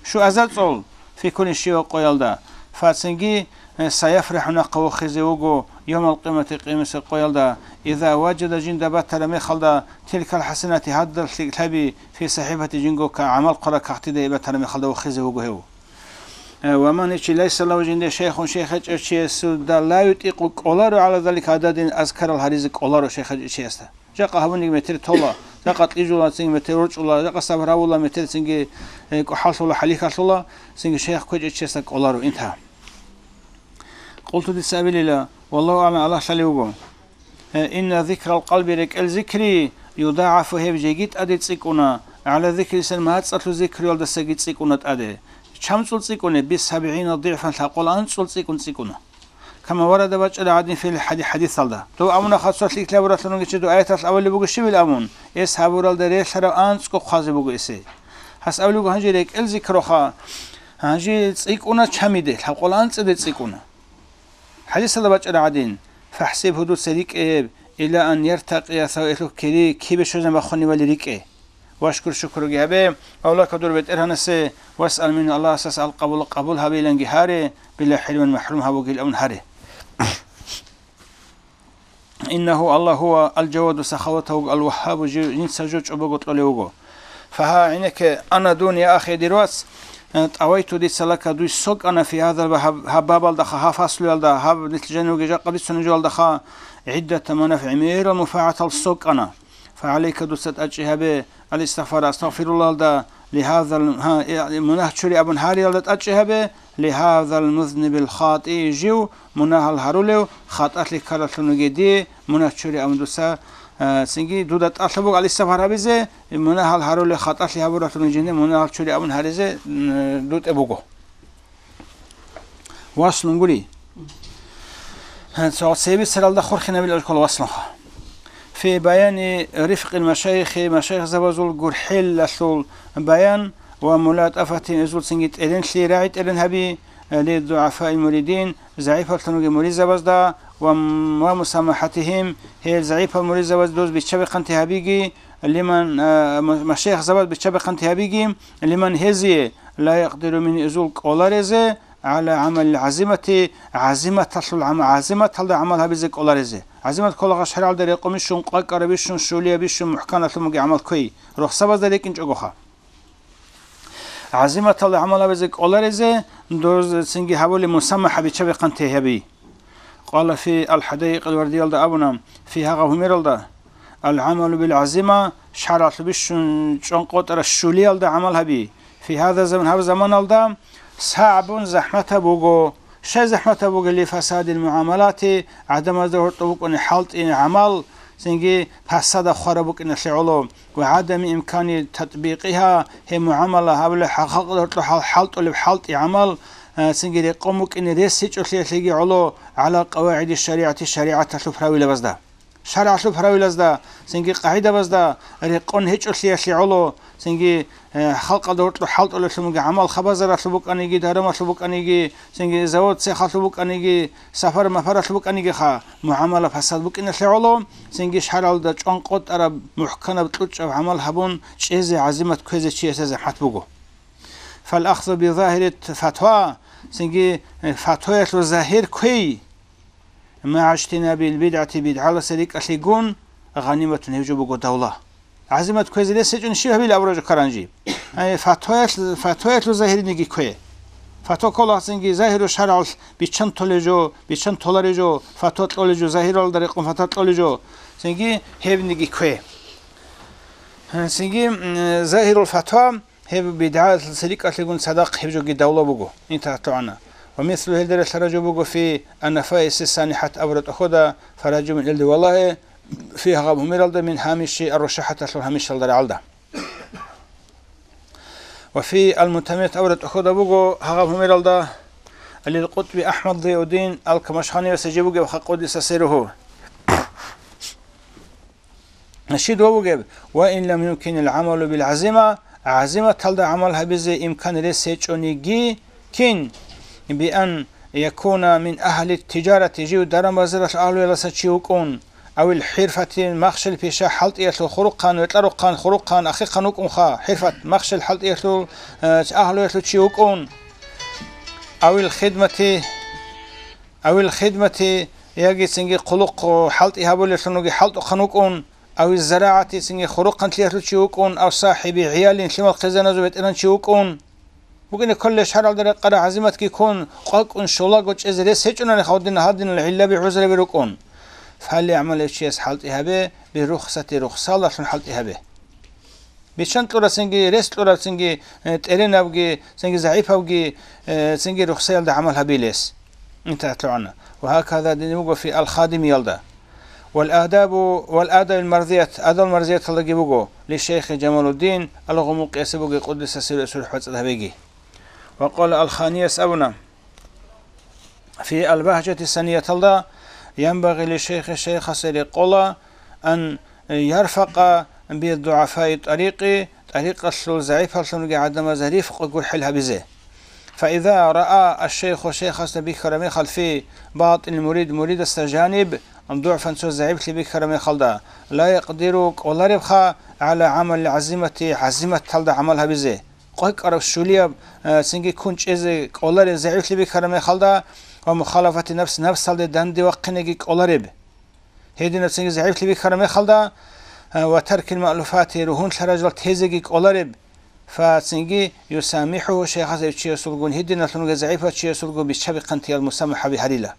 щуазарго цӀул, фи кулли, щивав къоялда, фа, цинги, э, саяфрахӀу, нахъа вохизе вуго, явмал къиямати, къиямасеб къоялда, иза важада, жинда батараб мехалда, тилкал хӀасанати, гьадал лъикӀлъаби, фи сахӀифати, жинго ка-, гӀамал хъвараб кагътида гьеб батараб мехалда вохизе вуго гьев. Э, ва ман, гьев чи, лайса лагьу, жинда шайхун, шайх гьечӀев чиясда, ла ютӀикъу, кӀоларо, гӀала залика гӀададин, азкарал гьаризе кӀоларо шайх гьечӀев чиясда. Жакъа гьабуниги метер тола, жакъа кьижула, цинги метер рорчӀула, жакъа сабрабула, метер цинги, э, кӀухӀаллъула, хӀалихьалъула, цинги шайх кквечӀев чиясда кӀоларо инта. Къулту, дица абилила, валлагьу агӀлам, Аллагь лъалев вуго. Э, инна зикрал къалби, рекӀел зикри, юдагӀафу, гьеб жеги тӀаде цӀикӀкӀуна, гӀала зикри лисан, мацӀалъул зикруялдасаги цӀикӀкӀуна тӀаде. ЧамцӀул цӀикӀкӀуна, бисабгӀина дигӀфан, лъабкъоялда анцӀул цӀикӀкӀун цӀикӀкӀуна. Кама варада, бачӀараб гӀадин, фил хӀади-, хӀадисалда. Дов абуна, хасур лъикӀлъи гьабуралъун вугев чи, дов аяталъ абулеб буго щибил абун, эс гьабуралда релълъараб анцӀго хъвазе буго эсе. Гьас абулеб буго, гьанже рекӀел зикрухъа, гьанже цӀикӀкӀуна чамиде, лъабкъоялда анцӀиде цӀикӀкӀуна. ХӀадисалда бачӀараб гӀадин, фахӀсибгьу, дуца рикӀкӀе гьеб, ила ан яртакъия, сав элъухъ кири кибе щвезабун бахъунебали рикӀкӀе. Вашкур, шукруги гьабе, авлака дур БетӀергьанасе, васъал мингьу, Аллагьасдаса ал-къабула, къабул гьабейиланги гьаре, била хӀирман, махӀрум гьабугейилан гьаре. Иннагьу, Аллагь, гьува ал-Жаваду, сахаватав вуго, ал-Вагьгьабу, жив жинца жо чӀобого кьолев вуго. Фагьа, гӀенекке, ана, дун, я ахи, дир вац, э, тӀавайту, дица, лака, дуй сокӀана, фи гьазал багь-, гьаб бабалдаха, гьаб фаслуялда, гьаб нилъ жанивги жакъа бицунеб жоялдаха, гӀиддата манафигӀ, гӀемерал мунпагӀатал сокӀана. ФагӀалайка, дуца тӀадчӀи гьабе, ал-истигъфар, астагъфируллагьалда, лигьазал, гьа, э, мунагь чури абун гьариялда тӀадчӀи гьабе, лигьазал музнибил хатӀи, жив мунагьал гьарулев, хатӀалъи ккаралъун вугей дие мунагь чури абун дуца, э, цинги дуда тӀалъаб буго ал-истигъфар гьабизе, мунагьал гьарулев, хатӀалъи гьабуралъун вугей жинде мунагьал чури абун гьаризе, м, дутӀе буго. Васлун гури. Гьанже цебе цералда хурхинабилеб ккола васлунха. Фи баяни рифкъил машайихи, машайихзабазул гурхӀелалъул баян ва мулатӀафатихим, эзул цинги тӀеренлъи, рагӀи тӀерен гьаби, лиддугӀафаил муридин, загӀипаллъун вугел муридзабазда, ва, ва мусамахӀатихим, гьел загӀипал муридзабазда доз биччабихъанти гьабиги, лиман, а, ма-, машайихзабаз биччабихъанти гьабиги, лиман, гьезие, ла якъдиру, мун, эзул кӀоларезе, гӀала гӀамалил гӀазимати, гӀазиматалъул гӀама-, гӀазиматалда гӀамал гьабизе кӀоларезе. ГӀазимат кколагъа шаргӀалда рекъон бищун, къвакӀараб бищун, щулияб бищун, мухӀканлъун бугеб гӀамал кквей, рохсабазда рекӀинчӀогоха. ГӀазиматалда гӀамал гьабизе кӀоларезе, доз цинги гьабули мусамахӀа, биччабихъанти гьаби. Къала фи ал-ХӀадаикъил вардиялда абуна, фи, гьагъа гьумералда, Ал-гӀамалу бил-гӀазима, шаргӀалъуб бищун чӀван къотӀараб щулиялда гӀамал гьаби. Фи гьаза заман, гьаб заманалда сагӀбун, захӀматаб буго. Щай захӀматаб бугели? Фасадил мугӀамалати, гӀадамазда гьоркьоб букӀуни хӀалтӀи гӀамал, цинги пасада хвараб букӀиналъе гӀоло, ва гӀадами имкани татбикъиха, гьеб мугӀамала гьабулеб хӀал-, халкъалда гьоркьоб хӀал-, хӀалтӀулеб хӀалтӀи гӀамал, а, цинги рекъон букӀине рес гьечӀолъиялъеги гӀоло, гӀала къавагӀиди шаригӀати, шаригӀаталъул правилабазда. ШаргӀалъул правилазда, цинги къагӀидабазда рекъон гьечӀолъиялъе гӀоло, цинги, э, халкъалда гьоркьоб хӀалтӀулеблъун бугеб гӀамал, хабазаралъуб букӀаниги, дарамалъуб букӀаниги, цинги завод-цехалъуб букӀаниги, сапар-мапаралъуб букӀанигиха, мугӀамала пасад букӀиналъе гӀоло, цинги шаргӀалда чӀван къотӀараб, мухӀканаб, кьучӀаб гӀамал гьабун чӀезе, гӀазимат кквезе чиясе захӀмат буго. Фал-ахзу би загьири фатва, цинги, э, фатваялъул загьир кквей, магӀа ижтинабил бидгӀати, бидгӀаласа рикӀкӀалъигун, гъаниматун, гьеб жо буго давла. ГӀазимат кквезе рес гьечӀони щиб гьабила абураб жо ккараб жиб? Ай, фатваялъ-, фатваялъул загьирниги ккве. Фатва ккола цинги загьиру шаргӀалъ биччан толеб жо, биччан толареб жо, фатва кьолеб жо, загьиралда рекъон фатва кьолеб жо. Цинги гьебниги ккве. Цинги, м, загьирул фатва, гьеб бидгӀалъаса рикӀкӀалъигун цадахъ гьеб жоги давла буго, интахӀат лъугӀана. Ва мислу, гьелда релълъараб жо буго, фи ан-нафаиси санихӀат абураб тӀахьалда, фаражибун, илди валагье, фи, гьагъаб гьумералда, мин гьамиши ар-рушахӀаталъул гьамишалда рагӀалда. Ва фи ал-мутамимат абураб тӀахьалда буго, гьагъаб гьумералда, лил-къутби АхӀмад Зиауддин ал-Камашханиясе жиб бугебха, къуддиса сирругьу. Щиб ва бугеб? Ва ин лам юмкинил гӀамалу бил гӀазима, гӀазиматалда гӀамал гьабизе имкан рес гьечӀониги, кин, би ан якуна мин агьли тиджарати, жив даран-базаралъул агьлуялдаса чи вукӀун, авил хӀирфати, махщел-пиша хӀалтӀиялъул хурухъан, ветӀарухъан, хурухъан, ахихъан вукӀунха, хӀирфат, махщел хӀалтӀиялъул, э, агьлуялъул чи вукӀун, авил хидмати, авил хидмати, яги цинги хъулухъ хӀалтӀи гьабулеллъун вуги хӀалтӀухъан вукӀун, авиз зарагӀати, цинги хурухъанлъиялъул чи вукӀун, ав сахӀиби гӀиялин, лъимал хъизаназул ветӀеран чи вукӀун. БукӀине кколел шаргӀалда рекъараб гӀазиматги ккун, къвакӀун щолаго чӀезе рес гьечӀонаниха, гьадин, гьадинал гӀиллаби, гӀузраби рукӀун. ФалягӀмал, гьев чияс хӀалтӀи гьабе, биррухсати, рухсалдалъун хӀалтӀи гьабе. Биччан кьурацинги, рес кьурацинги, э, тӀеренабги, цинги загӀипавги, э, цинги рухсаялда гӀамал гьабилес. Интахъ лъугӀана. Ва гьаказа дин буго фи ал-Хадимиялда. Вал адабу, вал адабил марзият, адабул марзияталдаги буго, ли шейхи Жамалуддин ал-Гъумукъиясе буго, къуддиса сирругьу, сурхӀ бацӀцӀад гьабеги. Ва къала ал-Ханияс абуна, фи ал-Багьжати санияталда, янбагъи ли шейхи, шейхасе рекъола, ан ярфакъа би дугӀафаи тӀарикъи, тӀарикъалъул загӀипаллъунги гӀадамазда рифкъ, гурхӀел гьабизе. Фаиза раа аш-шейху, шейхасда бихьараб мехалъ, фи батӀинил мурид, муридасда жаниб дугӀфан, цо загӀиплъи бихьараб мехалда, ла якъдиру, кӀоларебха, гӀала гӀамалил гӀазимати, гӀазиматалда гӀамал гьабизе. КъвакӀараб, щулияб, э, цинги ккун чӀезе кӀолареб загӀиплъи бихьараб мехалда ва мухалафати нафс, нафсалде данде вахъинеги кӀолареб. Гьединаб цинги загӀиплъи бихьараб мехалда, э, ва таркил маълуфати, ругьунлъа ражал тезеги кӀолареб. Фа цинги юсамихӀуху, шейхас гьев чиясулгун, гьединалъунги загӀипав чиясулгун биччабихъантиял мусамахӀаби гьарила.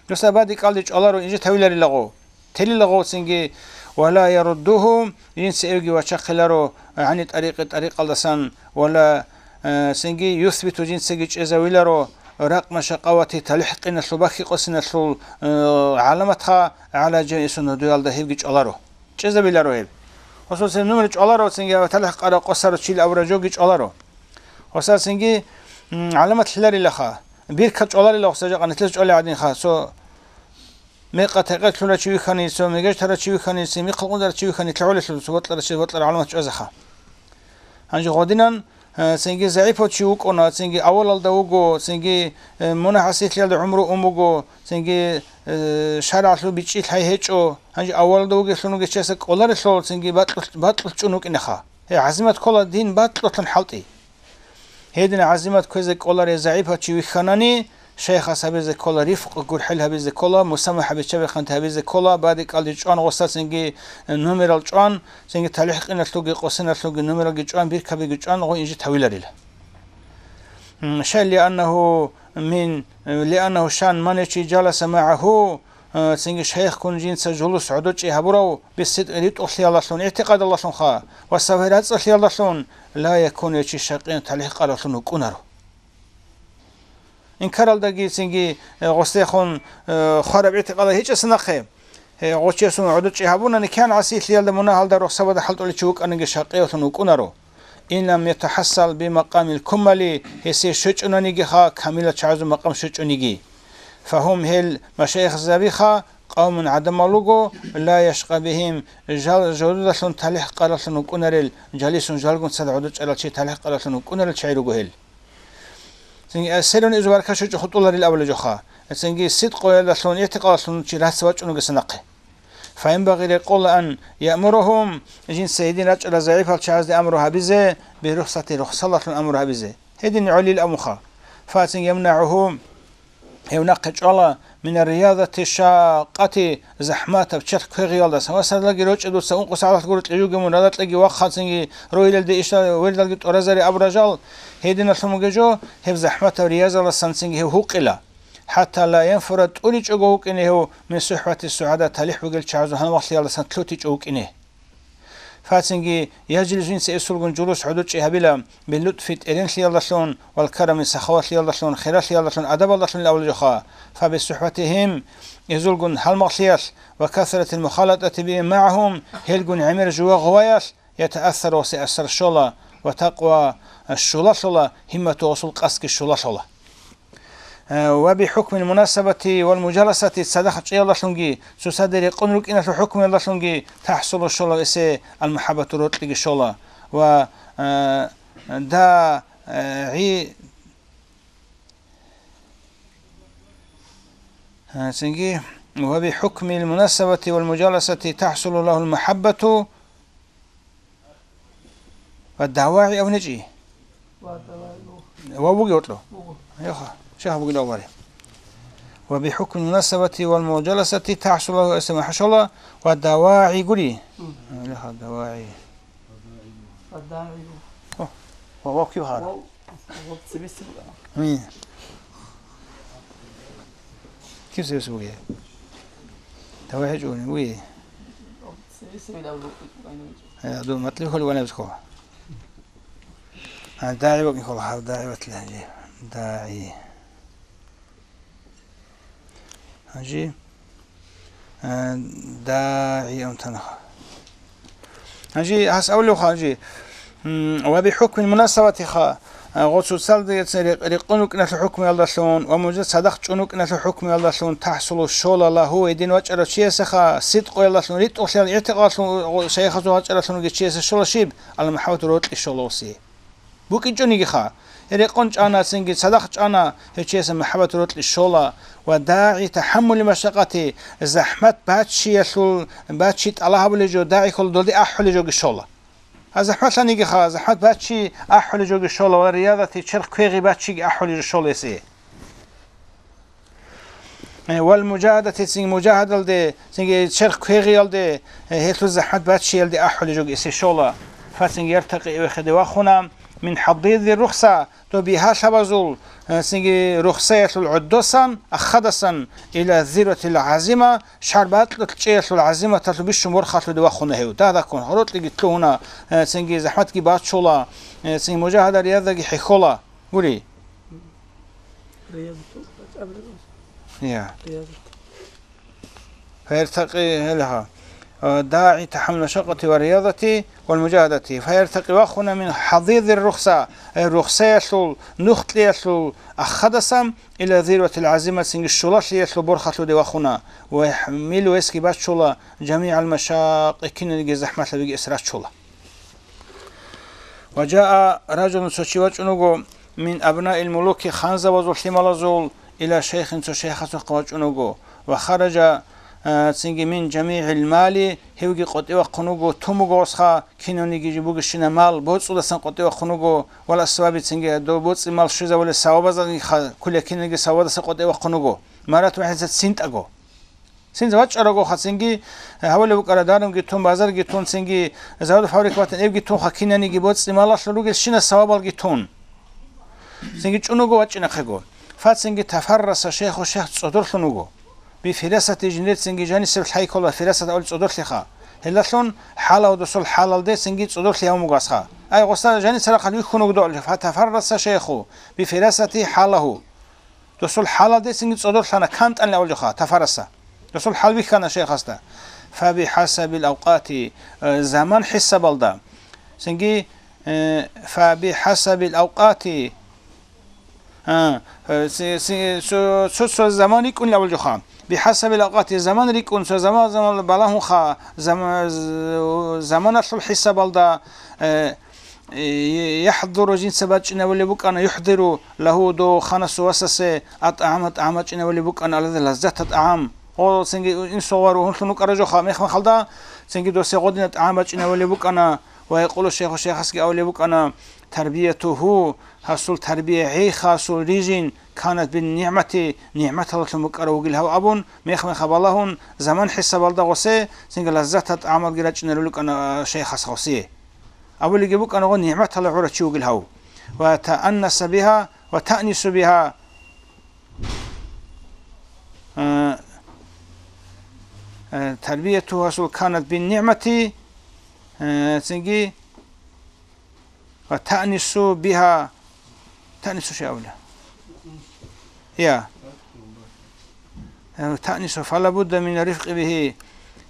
Дуса бадикалде чӀваларо, инжит гьавиларилаго, телилаго цинги, ва ла яруддуху, жинца эвги вачахъиларо, гӀани тӀарикъи, тӀарикъалдасан, ва ла, э, цинги юсбиту, жинцаги чӀезавиларо, ракъма шакъавати, талихӀкъиналъул, бахьи-къосиналъул, э, гӀаламатха, гӀала жамиъи суннатиялда гьебги чӀваларо. ЧӀезабиларо гьеб. Гьосулсин нумер чӀваларо, цинги талихӀ къара къосаро чил абураб жоги чӀваларо. Гьосасинги, м, гӀаламат лъиларилаха. Бирка чӀваларила гьоса жакъа, нилъер чӀвалел гӀадинха. Цо мекъа-текъер лъурав чи вихьани, цо мегеж тарав чи вихьани, цо михъал къундарав чи вихьани, лъагӀулелъул цо бокьарав чи бокьараб гӀаламат чӀвазаха. Гьанже гъодинан, э, цинги загӀипав чи вукӀуна, цинги авалалда вуго, цинги, э, мунагь-гӀасилъиялда гӀумру ун буго, цинги, э, шаргӀалъул бичӀчӀи лъай гьечӀо. Гьанже авалалда вугелъул вугев чиясда кӀоларелъул, цинги бакьулъ-, бакьулъ чӀун вукӀинеха. Гьей, гӀазимат ккола дин бакьулъун хӀалтӀи. Гьедин гӀазимат кквезе кколарей загӀипав чи вихьанани, шайхас гьабизе ккола рифкъ, гурхӀел гьабизе ккола, мусамахӀа биччабихъанти гьабизе ккола, бадикалде чӀван гъосда цинги, э, нумерал чӀван, цинги талихӀкъиналъулги къосиналъулги нумералги чӀван, биркабиги чӀван, гъо инжит гьавиларила. М, шай лианнагьу мин, лианнагьу шан ман чи жаласа магӀагьу, э, цинги шайихгун жинца жулус гӀодочӀи гьабурав, бисидкъи ритӀухълъиялдалъун, игӀтикъадалдалъунха ва сабай рацӀцӀалъиялдалъун, ла якуну, гьев чи шакъиян талихӀ къаралъун вукӀунаро. Инкаралдаги цинги, э, гъосдехун, э, хвараб игӀтикъадал гьечӀеса нахъе, э, гъочиясун гӀодочӀи гьабуна, никян гӀасилъиялда, мунагьалда, рухсабада хӀалтӀулев чи вукӀаниги шакъиялъун вукӀунаро. Ин лам ятахӀассал бимакъамил кумали, гьесие щвечӀунанигиха, камилал чагӀазул макъам щвечӀониги. Фагьум, гьел машайихзабиха, къавмун гӀадамал руго, ла яшкъа бигьим, жал жодудалъун талихӀ къаралъун вукӀунарел, жалисун жалгун цад гӀодочӀарал чи талихӀ къаралъун вукӀунарел чагӀи руго гьел. Цинги, э, селъун изу баркат щвечӀо хутӀуларил абулеб жоха. Цинги сидкъоялдалъун, игӀтикъадалъун чи рацӀцӀа вачӀунугеса нахъе. Фаянбагъи, рекъола, ан яъмурагьум, жинца гьедин рачӀарал загӀипал чагӀазде амру гьабизе, бирухсати, рухсалалъун амру гьабизе. Гьедин гӀолил абунха. Фацин ямнагӀугьу, гьев нахъе чӀвала, мина риязати шакъати, захӀматаб черх квегъиялдаса. Ва садалаги рочӀа дуца, ункъо сагӀаталъ гуро кьижуги мун, радакьаги вахъанцинги, ройилалде ишал вердалги тӀуразари абу ражал, гьединалъун бугеб жо, гьеб захӀматаб риязалдасанцинги гьев гьукъила. ХӀатта ла янфура, тӀуричӀого вукӀине гьев, мин сухӀбати сугӀада, талихӀ бугел чагӀазул гьалмагълъиялдасан лъутичӀо вукӀине. Фацинги, яжлису, жинца эсулгун жулус гӀодочӀи гьабила, биллутфи, тӀеренлъиялдалъун, вал карами, сахаватлъиялдалъун, хиралъиялдалъун, адабалдалъун абулеб жоха. ФабисухӀбатигьим, эзулгун гьалмагълъиялъ, ва касратил мухалатӀати бигьим магӀагьум, гьелгун гӀемер жува гъоваялъ, ятаассару, гъосе асар щола, ва такъва, щулалъула, гьиммату, гъосул къасдги щулалъула. Э, ва бихӀукмил мунасабати вал мужаласати, цадахъ чӀиялдалъунги, цоцаде рекъон рукӀиналъул хӀукмуялдалъунги тахӀсулу, щола гъосе алмухӀаббату, рокьиги щола. Ва, э, да, э, гӀи-, э, цинги, ва бихӀукмил мунасабати вал мужаласати тахӀсулу лагьул мухӀаббату, ва давагӀи абунечӀи. Ва давагӀи. Вав бугев гьоркьо? Буго. Яха, щай гьаб бугилан вари. Ва бихӀукмил мунасабати вал мужаласати тахӀсулу лагьу, гъосе махӀшала ва давагӀи гури. Мгм. Яха, давагӀи. Ва давагӀи. О, ва вав кив гьара? Вав, вав цебесеб бугана. Гьи. Кив цебесеб бугеб? ДагӀи гьечӀо, вуй. Э, дун матли хьоли ванаб хьо. А, дагӀи бакӀин хьола, гьав дагӀи батли гьанжи. ДагӀи. Гьанжи. Э, дагӀи амтанаха. Гьанжи гьас авлуха, гьанжи. М, ва бихӀукмил мунасабатиха, а, гъо цоцалдаса рекъ-, рекъон рукӀиналъул хӀукмуялдалъун ва мужа цадахъ чӀун рукӀиналъул хӀукмуялдалъун тахӀсулу, щола, лагьу, гьедин вачӀарав чиясаха, сидкъоялдалъун, ритӀухълъиялда, игӀтикъадалъун, гъо-, шайихазул вачӀараблъунги чиясе щола щиб? Ал-мухӀаббату, рокьи щола гъосе. БукӀинчӀонигиха, рекъон чӀана, цинги цадахъ чӀана, гьев чиясе мухӀаббату, рокьи щола, ва дагӀи тахӀаммули машакъати, захӀмат баччиялъул, баччи тӀалаб гьабулеб жо, дагӀи хьола долде ахӀулеб жоги щола. А захӀматлъанигиха, захӀмат баччи ахӀулеб жоги щола ва риязати черх квегъи баччиги ахӀулеб жо щола гъосе. Э, вал мужагьадати, цинги мужагьадалде, цинги черх квегъиялде, э, гьелъул захӀмат баччиялде ахӀулеб жоги гъосе щола. Фацинги яртакъи, эвехеде вахуна, мин хӀадиди рухса, доб бигьалъабазул, э, цинги рухсаялъул гӀодосан, ахадасан, ила зирватил гӀазима, шарбакьулъ чӀеялъул гӀазиматалъул бищун борхалъуде вахуна гьев. Дагьдаккун, гьоркьиги лъугьуна, э, цинги захӀматги баччула, э, цинги мужагьада, рияздаги хӀехьола. Гури. Риязатул. Я. Риязат. Фаяртакъи гьелгьа. Э, дагӀи тахӀаммул машакъати ва риязати вал мужагьадати. Фаяртакъи, вахуна, мин хӀадидир рухса, э, рухсаялъул, нухкьиялъул ахадасан, ила зирватил гӀазима, цинги щулалъиялъул борхалъуде вахуна, ва яхӀмилу, гъосги баччула, жамигӀал машакъи, киналниги захӀматлъабиги гъос раччула. Ва жаа ражулун, цо чи вачӀун вуго, мин абнаил мулуки, ханзабазул лъималазул, ила шайхин, цо шайхасухъе вачӀун вуго, ва хаража, а, цинги мин жамигӀил мали, гьевги къотӀи вахъун вуго, тун буго гъосха, кинавниги бугебщинаб мал, боцӀудасан къотӀи вахъун вуго, вал асваби, цинги дов боцӀи мал щвезавулел савабаздаги ха-, кколел киналги савабаздаса къотӀи вахъун вуго, марат вахӀидатан, цинтӀаго. Цинги вачӀарагоха, цинги, э, гьавулеб букӀараб дарунги тун, базарги тун, цинги завод-фабрика батун, эбги тунха, кинавниги боцӀи малалъул ругелщинаб савабалги тун. Цинги чӀун вуго, вачӀинахъего. Фацинги тафарраса шайху, шайх цӀодорлъун вуго. Би фирасати жиндир цинги жанисеб лъай ккола, фирасат авли цӀодорлъиха. Гьелдалъун хӀалав досул хӀалалде цинги цӀодорлъи гьавун буго асха. Ай, гъоса жаниса рахъал вихьун вугдугӀалев, фатафарраса шейху, би фирасати хӀалагьу. Досул хӀалалде цинги цӀодорлъана, кантӀани авлиха, тафараса. Досул хӀал вихьана шейхасда. Фаби хӀасабил авкъати, э, заман хӀисабалда. Цинги, э, фаби хӀасабил авкъати, А, э, си-, си-, цо-, цо-, цо заман рикӀкӀунел авлиха. БихӀасабил авкъати заман рикӀкӀун, цо заман, заман балагьунха, зама-, з-, заманалъул хӀисабалда, э, э, яхӀдуру жинца бачӀинавулеб букӀана, юхӀдиру лагьу дов ханасул васасе, атӀагӀама тӀагӀам бачӀинавулеб букӀана, алада лаззата тӀагӀам. О, цинги инсугъвар гьунлъун вукӀара жоха, мех-мехалда, цинги досе гъодина тӀагӀам бачӀинавулеб букӀана, ва якъулу шейху шейхасги авулеб букӀана, тарбиятугьу, гьасул тарбия, гӀейха гьасул рижин, канат бин нигӀмати, нигӀматаллъун букӀарав вугил гьав абун, мех-меха балагьун, заман хӀисабалда гъосе, цинги лаззата тӀагӀамалги рачӀинарулел рукӀана шейхас гъосие. Абулеги букӀана гъо нигӀматала гӀурав чи вугил гьав. Ва тааннаса биха, ва таънису биха. Э, э, тарбияту гьасул канат бин нигӀмати, э, цинги ва таънису биха, таънису ши абула? Я. Э, таънису, фала будда мин рифкъи бихи.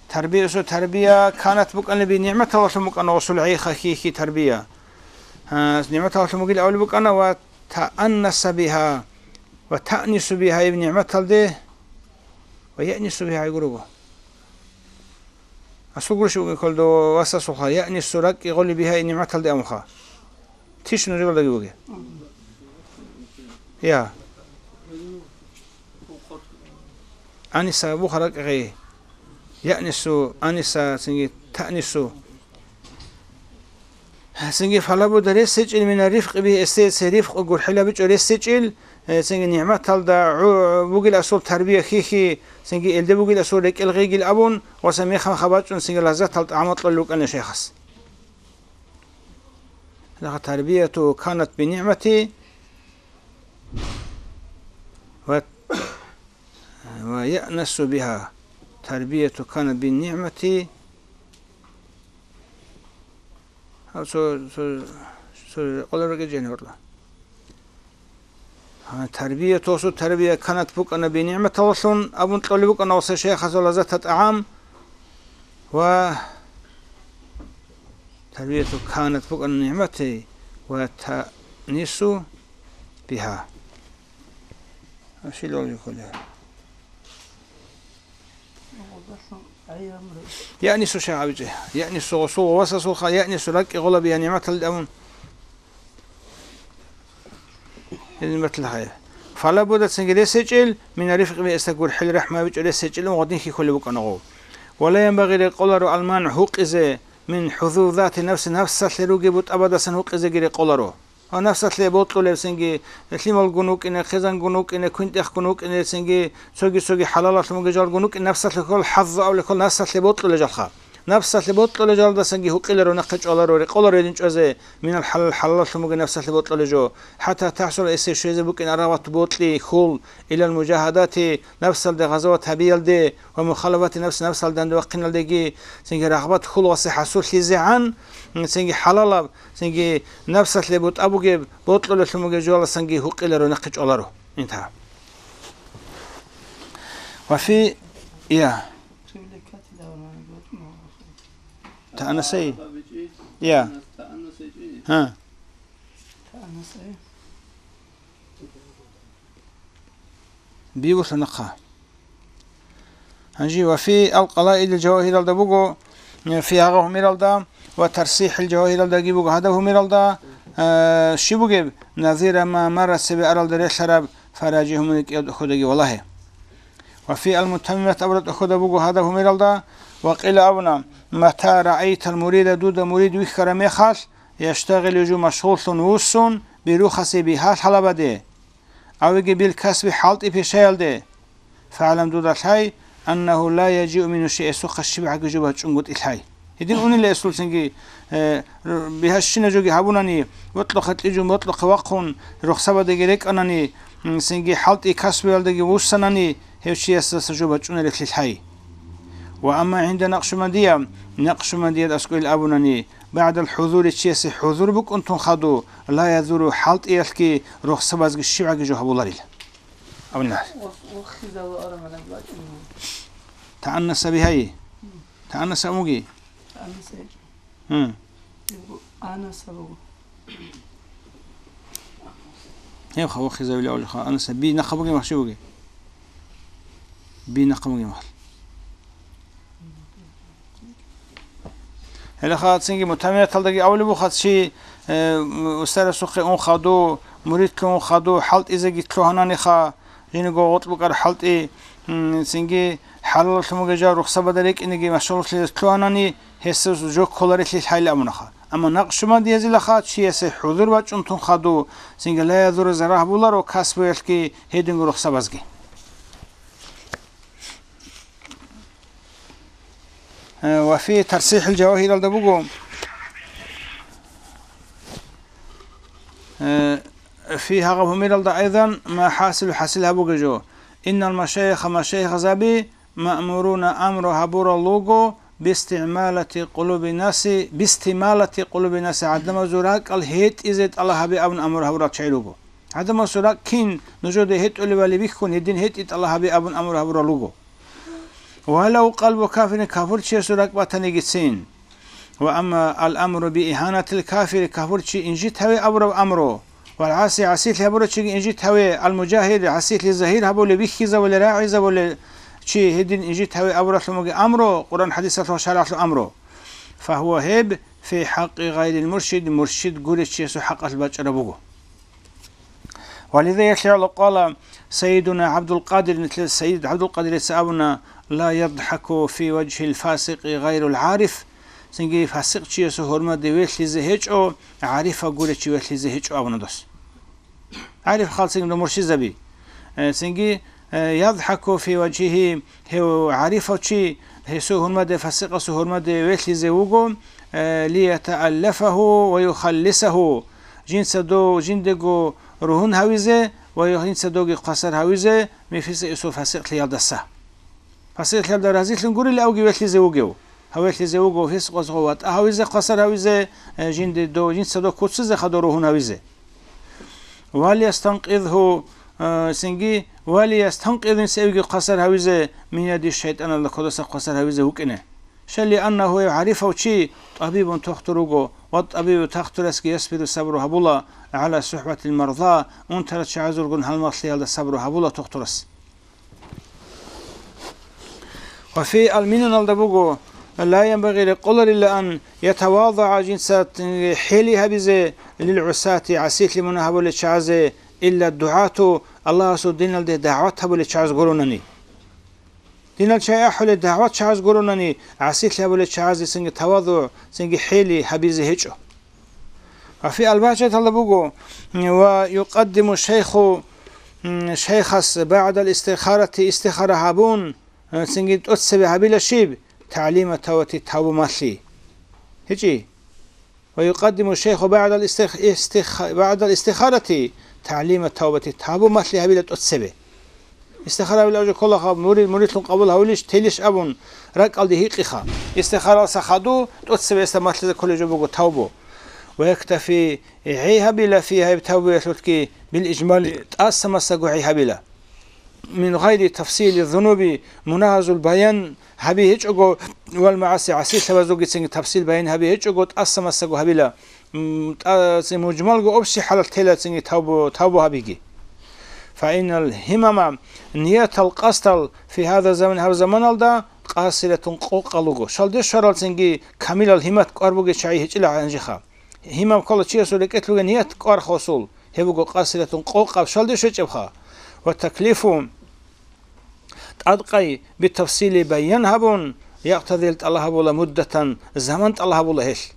Тарбиясу тарбия канат букӀана би нигӀматаллъун букӀана гъосул гӀейха хихи тарбия. А, нигӀматаллъун бугил авли букӀана ва таъаннаса биха, ва таънису биха иб нигӀматалде, ва яънису биха гурого. Асул гурищ бугин кколдо васасулха, яънису ракӀкӀи гъоли биха и нигӀматалде амха. Тиш нужелдаги буги. Я. Аниса буха ракӀи гъей. Яънису, аниса, цинги таънису. Цинги фалабуда ресечӀил мина рифкъи би эсеце рифкъ гурхӀилабичӀо ресечӀил, э, цинги нигӀматалда гӀу-, бугил асул тарбия хихи, цинги элде бугил асул рекӀел гъейгил абун, ва ца мехал хабачӀун цинги лаззатал тӀагӀамал кьолел рукӀана шейхас. Тарбияту канат бинигӀмати ва, ва яънасу биха. Тарбияту канат бинигӀмати. Гьав цо, цо, цо къоларги жени гьорла. Гьа, тарбия, тосу тарбия канат букӀана бинигӀматаллъун абун кьолеб букӀана гъоса шейхас ва лаззата тӀагӀам ва тарбияту канат букӀана нигӀмати ва таънису биха. Ашил валикуле. Яънису шагьабичӀе. Яънису гъосул васасулха, яънису ракӀи гъолаби я нигӀматалде абун. Гьедин батла хай. Фала буда цинги ресечӀел, мина рифкъи би эса гурхӀел рахӀмабичӀо ресечӀел ун гъодин хихьулеб букӀана гъов. Ва ла янбагъи рекъоларо алман гьукъизе, мин хӀузузати нафси нафсалъе ругеб бутӀабадасан гьукъизеги рекъоларо. Ва нафсалъе бокьулеб цинги, лъималгун вукӀине, хъизангун вукӀине, квинтӀехгун вукӀине цинги, цоги-цоги хӀалалалъун бугеб жалгун вукӀине, нафсалъе ккол хӀаззу авле ккол нафсалъе бокьулеб жалха. Нафсалъе бокьулеб жалдасанги гьукъиларо, нахъе чӀваларо, рекъоларо гьедин чӀвазе, минал хӀалал хӀалалалъун бугеб нафсалъе бокьулеб жо, хӀатта тахӀсула эсие щвезе букӀин арагъат бокьи, хьул, илал мужагьадати, нафсалде гъазават гьабиялде ва мухалафати нафс нафсалде данде вахъиналдеги, цинги рагъбат хьул васе хӀасуллъизегӀан, цинги хӀалалаб, цинги нафсалъе бутӀа бугеб, бокьулелъун бугеб жоялдасанги гьукъиларо, нахъе чӀваларо. Интагьа. Ва фи, я. Таънасай? Я. Гьа. Бигулъа нахъа. Гьанже ва фи ал-Къалаидил Жавагьиралда буго, э, фи гьагъа гьумералда ва ТарсихӀил Жавагьиралдаги буго гьадаб гьумералда, э, щиб бугеб, назира ма марра цебе аралда релълъараб фаражи гьумер кӀияб ходаги валагье. Ва фи ал-Мутаммимат абураб тӀохьода буго гьадаб гьумералда, ва къила абуна, мата раайтал мурида дуда мурид вихьара мехалъ, яштагъилу жу машгъуллъун вуссун, бирухаси бигьа лъалабаде, авиги бил касби хӀалтӀи пешаялде, фагӀлам дуда лъай, аннагьу ла яжиу мингьу шей эсухъа щибгӀаги жо бачӀунгутӀи лъай. Гьедин унила эсул цинги, э, р-, бигьа щина жоги гьабунани, бокьухъе кьижун бокьухъе вахъун, рухсабадаги рекӀанани, м, цинги хӀалтӀи касбиялдаги вуссанани, гьев чиясдаса жо бачӀунарелъи лъай. Ва амма гӀинда накъшубандия, накъшубандияд аскӀойл абунани, багӀдал хӀузури чиясе хӀузур букӀунтун хаду, ла язуру хӀалтӀиялъги рухсабазги щибгӀаги жо гьабуларила. Абуна. Вахизава арагьана бачӀун. Тааннаса бигьай. Тааннаса амуги. Тааннаса. Гьу. Анаса буго. Гьеб хавахизавила улиха, анаса би нахъа бугеб махщи буги? Би нахъа бугеб махал. Гьеле хацинги мутамияталдаги авли бухъа чи, э, устарасухъе ун хаду, муридлъун хаду, хӀалтӀизеги лъугьананиха, жинего гъоркь букӀар хӀалтӀи, м, цинги хӀалаллъун бугеб жал рухсабада рекӀинеги машгьурлъизе лъугьанани, гьесул жо кколарелъи лъайла абунаха. Амма накъшубандиязилаха чиясе хӀузур бачӀунтун хаду, цинги лаязура зарагь буларо касбуялъги гьединго рухсабазги. Э, ва фи тарсихӀил жавагьиралда буго, э, фи гьагъаб гьумералда айзан ма хӀасил хӀасил гьабуге жо. Иннал машайиха машайихазаби маъмуруна амру гьабурал руго бистигӀмалати къулуби наси, бистималати къулуби наси гӀадамазул ракӀал гьетӀизе тӀала гьабе абун амру гьабурал чагӀи руго. ГӀадамасул ракӀ кин нужеде гьетӀулебали бихьун, гьедин гьетӀи тӀала гьабе абун амру гьабурал руго. Валав къалбу кафирин, кафурчиясул ракӀ батанигицин. Ва амма ал-амру би игьанатил кафири, кафурчи инжит гьаве абураб амру, вал гӀаси, гӀасилъи гьабурав чиги инжит гьаве, ал-мужагьир, гӀасилъи загьир гьабулев, бихьизавулев, рагӀизавулев чи гьедин инжит гьаве абуралъумаги амру, Къуръан хӀадисалъул шаргӀалъул амру. Фагьуа гьеб фи хӀакъи гъайрил муршид, муршид гурев чиясул хӀакъалъ бачӀараб буго. Ва лиза яхӀ къала Сайидуна ГӀабдулкъадир, нилъер Сайид ГӀабдулкъадирица абуна: «Ла ядхӀаку фи важгьил фасикъи гъайрул гӀариф», цинги фасикъчиясул гьурмаде велъизе гьечӀо, гӀарифав гурев чи велъизе гьечӀо абуна дос. ГӀариф халцин муршизаби. Э, цинги, э, ядхӀаку фи важгьигьи, гьев гӀарифав чи, гьесул гьурмаде, фасикъасул гьурмаде велъизе вуго, э, лиятааллафагьу ва юхаллисагьу, жинца дов жиндего ругьун гьавизе ва жинца довги хвасар гьавизе, мифиса исул фасикълъиялдаса. Фасикълъиялда разилъун гурилавги велъизе вугев. Гьавелъизе вуго фисикъазго ватӀа гьавизе, хвасар гьавизе, э, жинде дов, жинца дов куцизе, хадур ругьун гьавизе. Валиястанкъизгьу, э, цинги, валиястанкъизгьу, цевги хвасар гьавизе, минади шайтӀаналда кодаса хвасар гьавизе вукӀине. Шалли аннагьу гӀарифав чи тӀабибун тохтур руго, ва тӀабибу тахтурасги ясбиру сабру гьабула, гӀала сухӀбатил марза, унтарал чагӀазулгун гьалмагълъиялда сабру гьабула тохтурас. Ва фи ал-минаналда буго, ла янбагъи рекъоларилаан ятавазагӀа жинца хӀели гьабизе лил гӀусати гӀасилъи мунагь гьабулел чагӀазе, илла дугӀату Аллагьасул диналде дагӀват гьабулел чагӀаз гуронани. Динал чагӀи ахӀулел дагӀват чагӀаз гуронани, гӀасилъи гьабулел чагӀазе цинги тавазугӀ, цинги хӀели гьабизе гьечӀо. Ва фи албагьчаталда буго, ва юкъаддиму шайху, м, шайхас багӀдал истихарати, истихара гьабун, м, цинги тӀоцебе гьабила щиб? ТагӀлима тавбати, тавбу малъи. ГьечӀи? Ва юкъаддиму шайху багӀдал истих-, истих-, багӀдал истихарати, тагӀлима тавбати, тавбу малъи гьабила тӀоцебе. Истихара гьабилеб жо кколаха, мурид муридлъун къабул гьавилищ, телищ абун, ракӀалде гьикъиха. Истихаралса хаду, тӀоцебесда малъизе кколеб жо буго тавбу. Ва яктафи, гӀей гьабила фи гьеб тавбуялъулъги бил ижмали, тӀаса-масаго гӀей гьабила. Мин гъайри тафсили зунуби, мунагьазул баян гьаби гьечӀого, вал магӀаси, гӀасилъабазулгицинги тафсил баян гьаби гьечӀого, тӀаса-масаго гьабила. М, тӀа-, ци мужмалго общий хӀалалъ тела цинги тавбу, тавбу гьабиги. Фаинал гьимама, ниятал къасдал, фи гьаза заман, гьаб заманалда къасиратун къокъал руго. Шалде щваралцинги камилал гьимат кӀвар бугел чагӀи гьечӀила гьанжеха. Гьимам ккола чиясул рекӀелъ бугеб ният кӀвар хосул, гьеб буго къасиратун къокъаб шалде щвечӀебха. Ва таклифу, тӀадкъай битафсили баян гьабун, якътадил тӀала гьабула муддатан, заман тӀала гьабула гьелъ.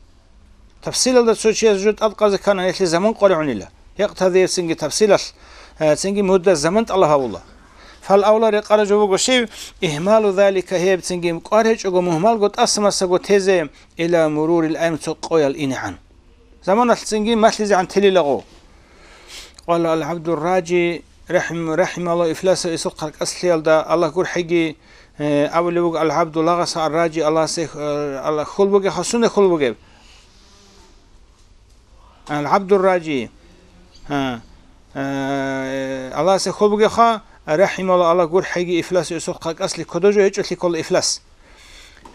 Тафсилалда цо чияс жо тӀадкъазе ккана, гьелъе заман къваригӀунила. Якътадиевцинги тафсилалъ, э, цинги мудда заман тӀала гьабула. Фал авла рекъараб жо буго щив, игьмалу залика, гьеб цинги кӀвар гьечӀого мугьмалго тӀаса-масаго тезе, ила мурурил айм, цо къоял инегӀан. Заманалъ цинги малъизегӀан телилаго. Къала ал-ГӀабдурражи, рахӀим-, рахӀималла ифласав эсул къаркъаслъиялда Аллагь гурхӀеги, э, абулеб буго, алгӀабду лагъаса арражи, Аллагьасе, э, Аллагь хьул бугеб, хасуна хьул бугеб. АлгӀабдурражи. Гьа. Э, Аллагьасе хьул бугебха, рахӀималла, Аллагь гурхӀеги ифласав эсул къаркъаслъи кодо жо гьечӀолъи ккола ифлас.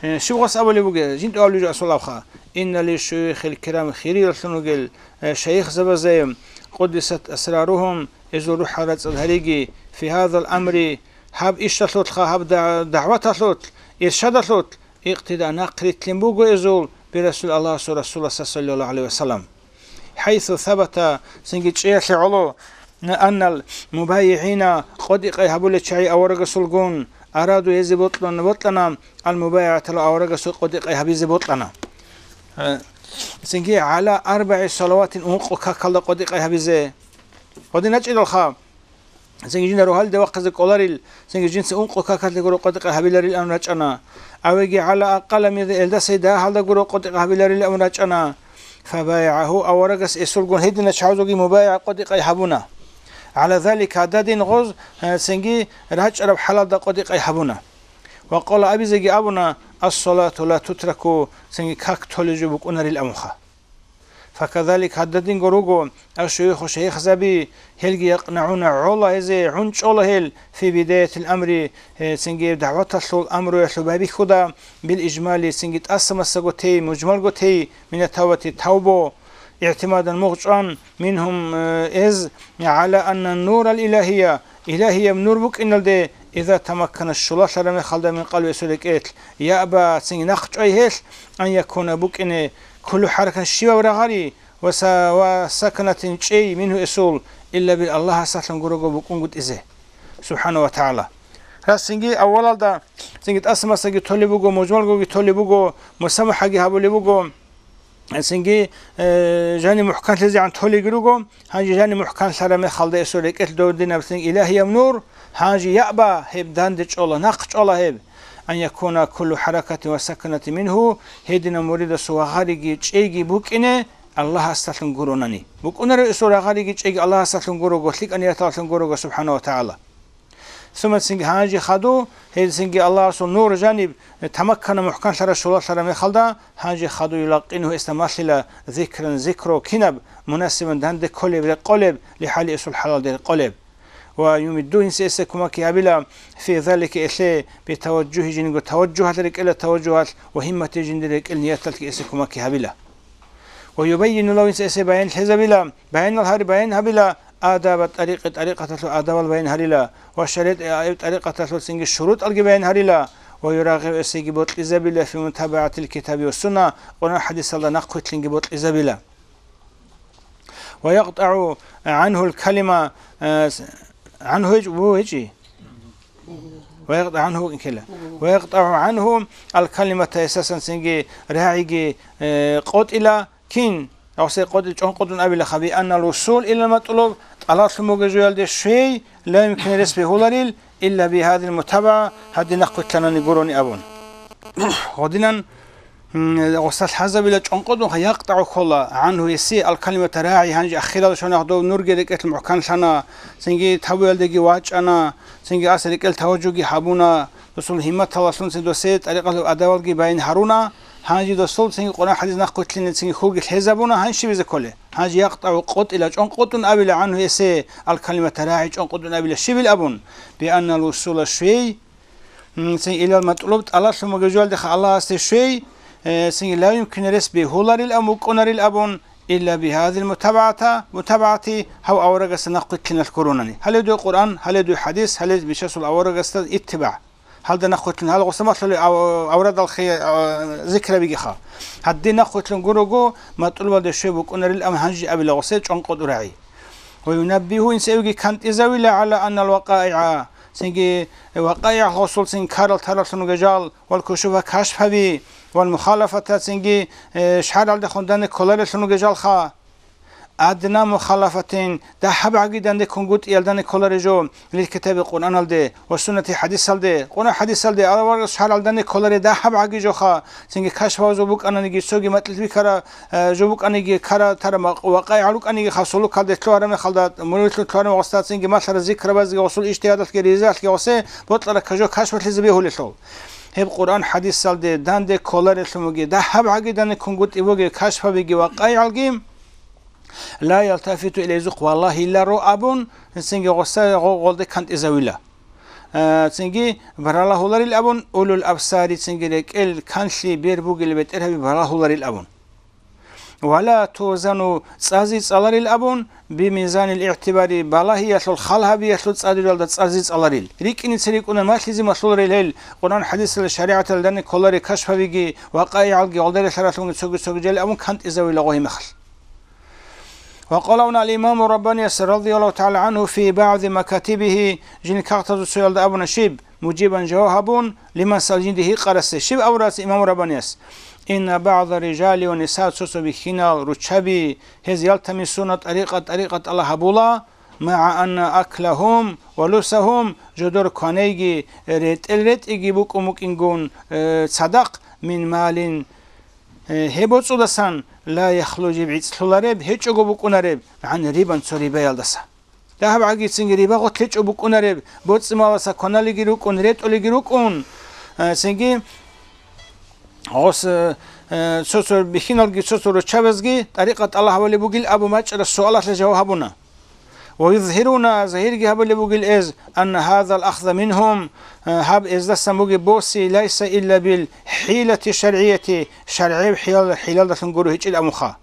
Э, щиб гъос абулеб бугеб, жинда абулеб жо асул абха. Инна ли шуюхил кирам, хирияллъун ругел, э, шайихзабазе, къуддисат асрарухум, эзул рухӀал рацӀцӀад гьариги, фи гьазал амри, гьаб ишалъулъха, гьаб да-, дагӀваталъулъ, иршадалъулъ, икътида нахърилълъин буго эзул, би Расул Аллагьасул Расуласа саллаллагьу гӀалайгьи ва саллам. ХӀайсу сабата, цинги чӀеялъе гӀоло, аннал мубайигӀина, къотӀи-къай гьабулел чагӀи аварагасулгун, араду гьезе бокьун-, бокьана, ал мубайигӀатала аварагасул къотӀи-къай гьабизе бокьана. Э, цинги гӀала арбагӀи салаватин, ункъо какалда къотӀи-къай гьабизе. Гьадин гьечӀелалха, цинги жинда рогьалида вахъизе кӀоларил, цинги жинца ункъо какалда гуро къотӀи-къай гьабиларил абун рачӀана. Авеги гӀала акъала мин, элдасай дагьалда гуро къотӀи-къай гьабиларил абун рачӀана. ФабайагӀагьу, аварагас эсулгун гьедина чагӀазулги мубайагӀа къотӀи-къай гьабуна. ГӀала залика, гьададин гъоз, э, цинги рачӀараб хӀалалда къотӀи-къай гьабуна. Ва къала, абизеги абуна, ассалату ла тутраку, цинги как толеб жо букӀунарил абунха. Факазалик, гьададинго руго, ашуюху, шайихзаби, гьелги якънагӀуна, гӀола гьезе, гӀунчӀола гьел, фи бидаятил амри, э, цинги дагӀваталъул амруялъул байбихьуда, бил ижмали, цинги тӀаса-масаго тей, мужмалго тей, мина тавбати, тавбо, игӀтимадан мугъчӀван, мингьум, э, эз, гӀала анна нурал илагьия, Илагьияб нур букӀиналде, иза тамаккана, щулалъараб мехалда, мин къалби, эсул рекӀелъ, яба, цинги нахъчӀвай гьелъ, ан якуна, букӀине, куллу хӀаракатин, щибаб рагъари, ва са-, ва саканатин, чӀей, мингьу, эсул, илла бил, Аллагьасалъун гурого букӀунгутӀизе, субхӀана ва тагӀала. Гьас цинги аввалалда цинги тӀаса-масаги толеб буго, мужмалгоги толеб буго, мусамахӀаги гьабулеб буго. Цинги, э, жаниб мухӀканлъизегӀан толеги руго, гьанже жаниб мухӀканлъараб мехалда эсул рекӀелъ додинаб цинги илагьияб нур, гьанже яба гьеб данде чӀола, нахъчӀвала гьеб, ан якуна куллу хӀаракатин ва саканатин мингьу, гьединаб муридасул рагъариги чӀейги букӀине Аллагьасдалъун гуронани. БукӀунареб эсул рагъариги чӀейги Аллагьасдалъун гурого, лъикӀаб нияталъун гурого, субхӀана ва тагӀала. Сумма, цинги гьанже хадув, гьел цинги Аллагьасул нур жаниб тамаккана, мухӀканлъараб, щулалъараб мехалда, гьанже хадув, юлакъинугьу, эсда малъила, зикран, зикру, кинаб, мунасибан, данде кколеб, рекъолеб, лихӀали, эсул хӀалалде рекъолеб. Ва юмидду, гьанже эсие кумекги гьабила, фи залика, элъе, битаважжугьи, жиндирго таважжугьалъ, рекӀелал таважжугьалъ, ва гьиммати, жиндир рекӀел нияталъги эсие кумекги гьабила. Ва юбаййину лагьу, гьанже эсие баянлъизабила, баянал гьари баян гьабила, адаба тӀарикъи, тӀарикъаталъул адабал баян гьарила, ва шаригӀатӀи, тӀарикъаталъул цинги шурутӀалги баян гьарила, ва юрагъибу, эсиеги бокьизабила, фи мутабагӀатил китаби ва сунна, Къуръан хӀадисалда нахъвилълъинги бокьизабила. Ва якътӀагӀу гӀангьул калима, э, с-, гӀангьу гьечӀ-, ву гьечӀи? Ва якътӀагӀу гӀангьу ккела. Ва якътӀагӀу гӀангьу ал калимата, эсасан цинги рагӀиги, э, къотӀила, Кин, гьасие къотӀи чӀонкъотӀун абилаха, би аннал вусул илал матӀлуб, тӀалаб лъун бугеб жоялде щвей, ла юмкин, рес бегьуларил, илла би гьадил мутабагӀа, гьадин нахъвилълъанани гурони абун. Гъодинан, м, гъосда лъазабила чӀонкъотӀунха, якътӀагӀу ккола, гӀангьу, эсие, ал калимата рагӀи, гьанже ахирал щвана, дов нурги рекӀелъ мухӀканлъана, цинги тавбуялдеги вачӀана, цинги эс рекӀел таважжуги гьабуна, досул гьимматалалъун цин досие тӀарикъаталъул адабалги баян гьаруна, гьанже досул цинги Къуръан хӀадис нахъвилълъине цинги хьулги лъезабуна, гьанже щиб гьезе кколеб? Гьанже якътӀагӀу къотӀила, чӀонкъотӀун абила, гӀангьу, эсие ал калимата рагӀи, чӀонкъотӀун абила щибил абун, би аннал вусула, щвей, м, цин илал матӀлуб, тӀалаб лъун бугеб жоялдеха Аллагьасде щвей, э, цинги ла юмкин, рес бегьуларил абун, букӀунарил абун, илла би гьадил мутабагӀата, мутабагӀати, гьав аварагасда нахъвилълъиналъ гуронани. Гьале дуе Къуръан, гьале дуе хӀадис, гьале бичасул аварагасда иттибагӀ. Гьалда нахъвилълъун, гьал гъоса малъули ав-, аврадал хи-, а, зикрабигиха. Гьадин нахъвилълъун гурого, матӀлубалде щвей букӀунарил, ам гьанже абила гъосе чӀонкъотӀу рагӀи. Ва юнаббигьу, инсаевги кантӀизавила, гӀала аннал вакъаигӀа, цинги вакъаигӀ гъосул цин ккарал тараллъун ругел жал, вал кушуфа, кашфаби, вал мухалафата, цинги, э, шаргӀалдехун данде кколареллъун ругел жалха. адна мухалафатин, дагьаб гӀагидан деккунгутӀиялдани кколаре жо, лил китаби Къуръаналде ва суннати хӀадисалде, Къуръан хӀадисалде, аварагас шаргӀалдани кколаре дагьаб гӀаги жоха, цинги кашфавазул букӀананиги, цоги макьилъ бикара, э, жо букӀаниги, кара тара ма-, вакъаи гӀалукӀаниги, хасулукалде лъугьараб мехалда, мурилъун лъугьараб гъосда, цинги малъара зикрабазги, гъосул ижтигьадалъги, ризаялъги гъосе бокьараб ка-, жо кашфалъизе бегьулелъул. Гьеб Къуръан хӀадисалде данде кколарелъун буги, дагьаб гӀагидани ккунгутӀи буги, кашфабиги вакъаи гӀалги, ла ялтафиту илайзухъ валлагьиларо абун, цинги гъоса гъо-, гъолде кантӀизавила. Э, цинги баралагьуларил абун, улул абсари, цинги рекӀел канлъи бер бугел бетӀергьаби баралагьуларил абун. Вала тузану, цӀази цӀаларил абун, бимизанил игӀтибари, балагьиялъул, халгьабиялъул цӀадиралда цӀази цӀаларил. РикӀкӀиница рикӀкӀуна малъизе малъуларил гьел, Къуръан хӀадисалда, шаригӀаталда данде кколаре кашфабиги, вакъаи гӀалги, гъолда релълъаралъунги цоги-цоги жали абун кантӀизавила гъо гьеб мехалъ. Ва къала абуна ал-Имаму Раббанияс радияллагьу тагӀала гӀангьу фи багӀзи макатибигьи, жиндир кагътазул цоялда абуна щиб, мужибан жаваб гьабун, лиман сал жинди гьикъарасе, щиб абурас Имаму Раббанияс? Инна багӀза рижали ва ниса, цо-цо бихьинал, руччаби, гьез ялтамисуна тӀарикъа-тӀарикъатала гьабула, магӀа анна аклахум ва лубсахум, жодор кванейги, ретӀел ретӀиги букӀун букӀингун, э, цадахъ, мин малин, Э, гьеб боцӀудасан ла яхлу, жиб гӀицӀлъулареб, гьечӀого букӀунареб, гӀан рибан, цо рибаялдаса. Дагьаб гӀагицинги риба гъотлъечӀо букӀунареб, боцӀи-маласа кваналиги рукӀун, ретӀулиги рукӀун, э, цинги гъос, э, э, цо-цо бихьиналги цо-цо руччабазги тӀарикъа тӀалаб гьабулеб бугил абу мачӀараб суалалъе жаваб гьабуна. Ва юзгьируна, загьирги гьабулеб бугил эз, анна гьазал ахза мингьум, э, гьаб эздасан бугеб боси, лайса илла бил хӀилати шаргӀияти, шаргӀияв хӀилал-, хӀилалдалъун гуро гьечӀил абунха.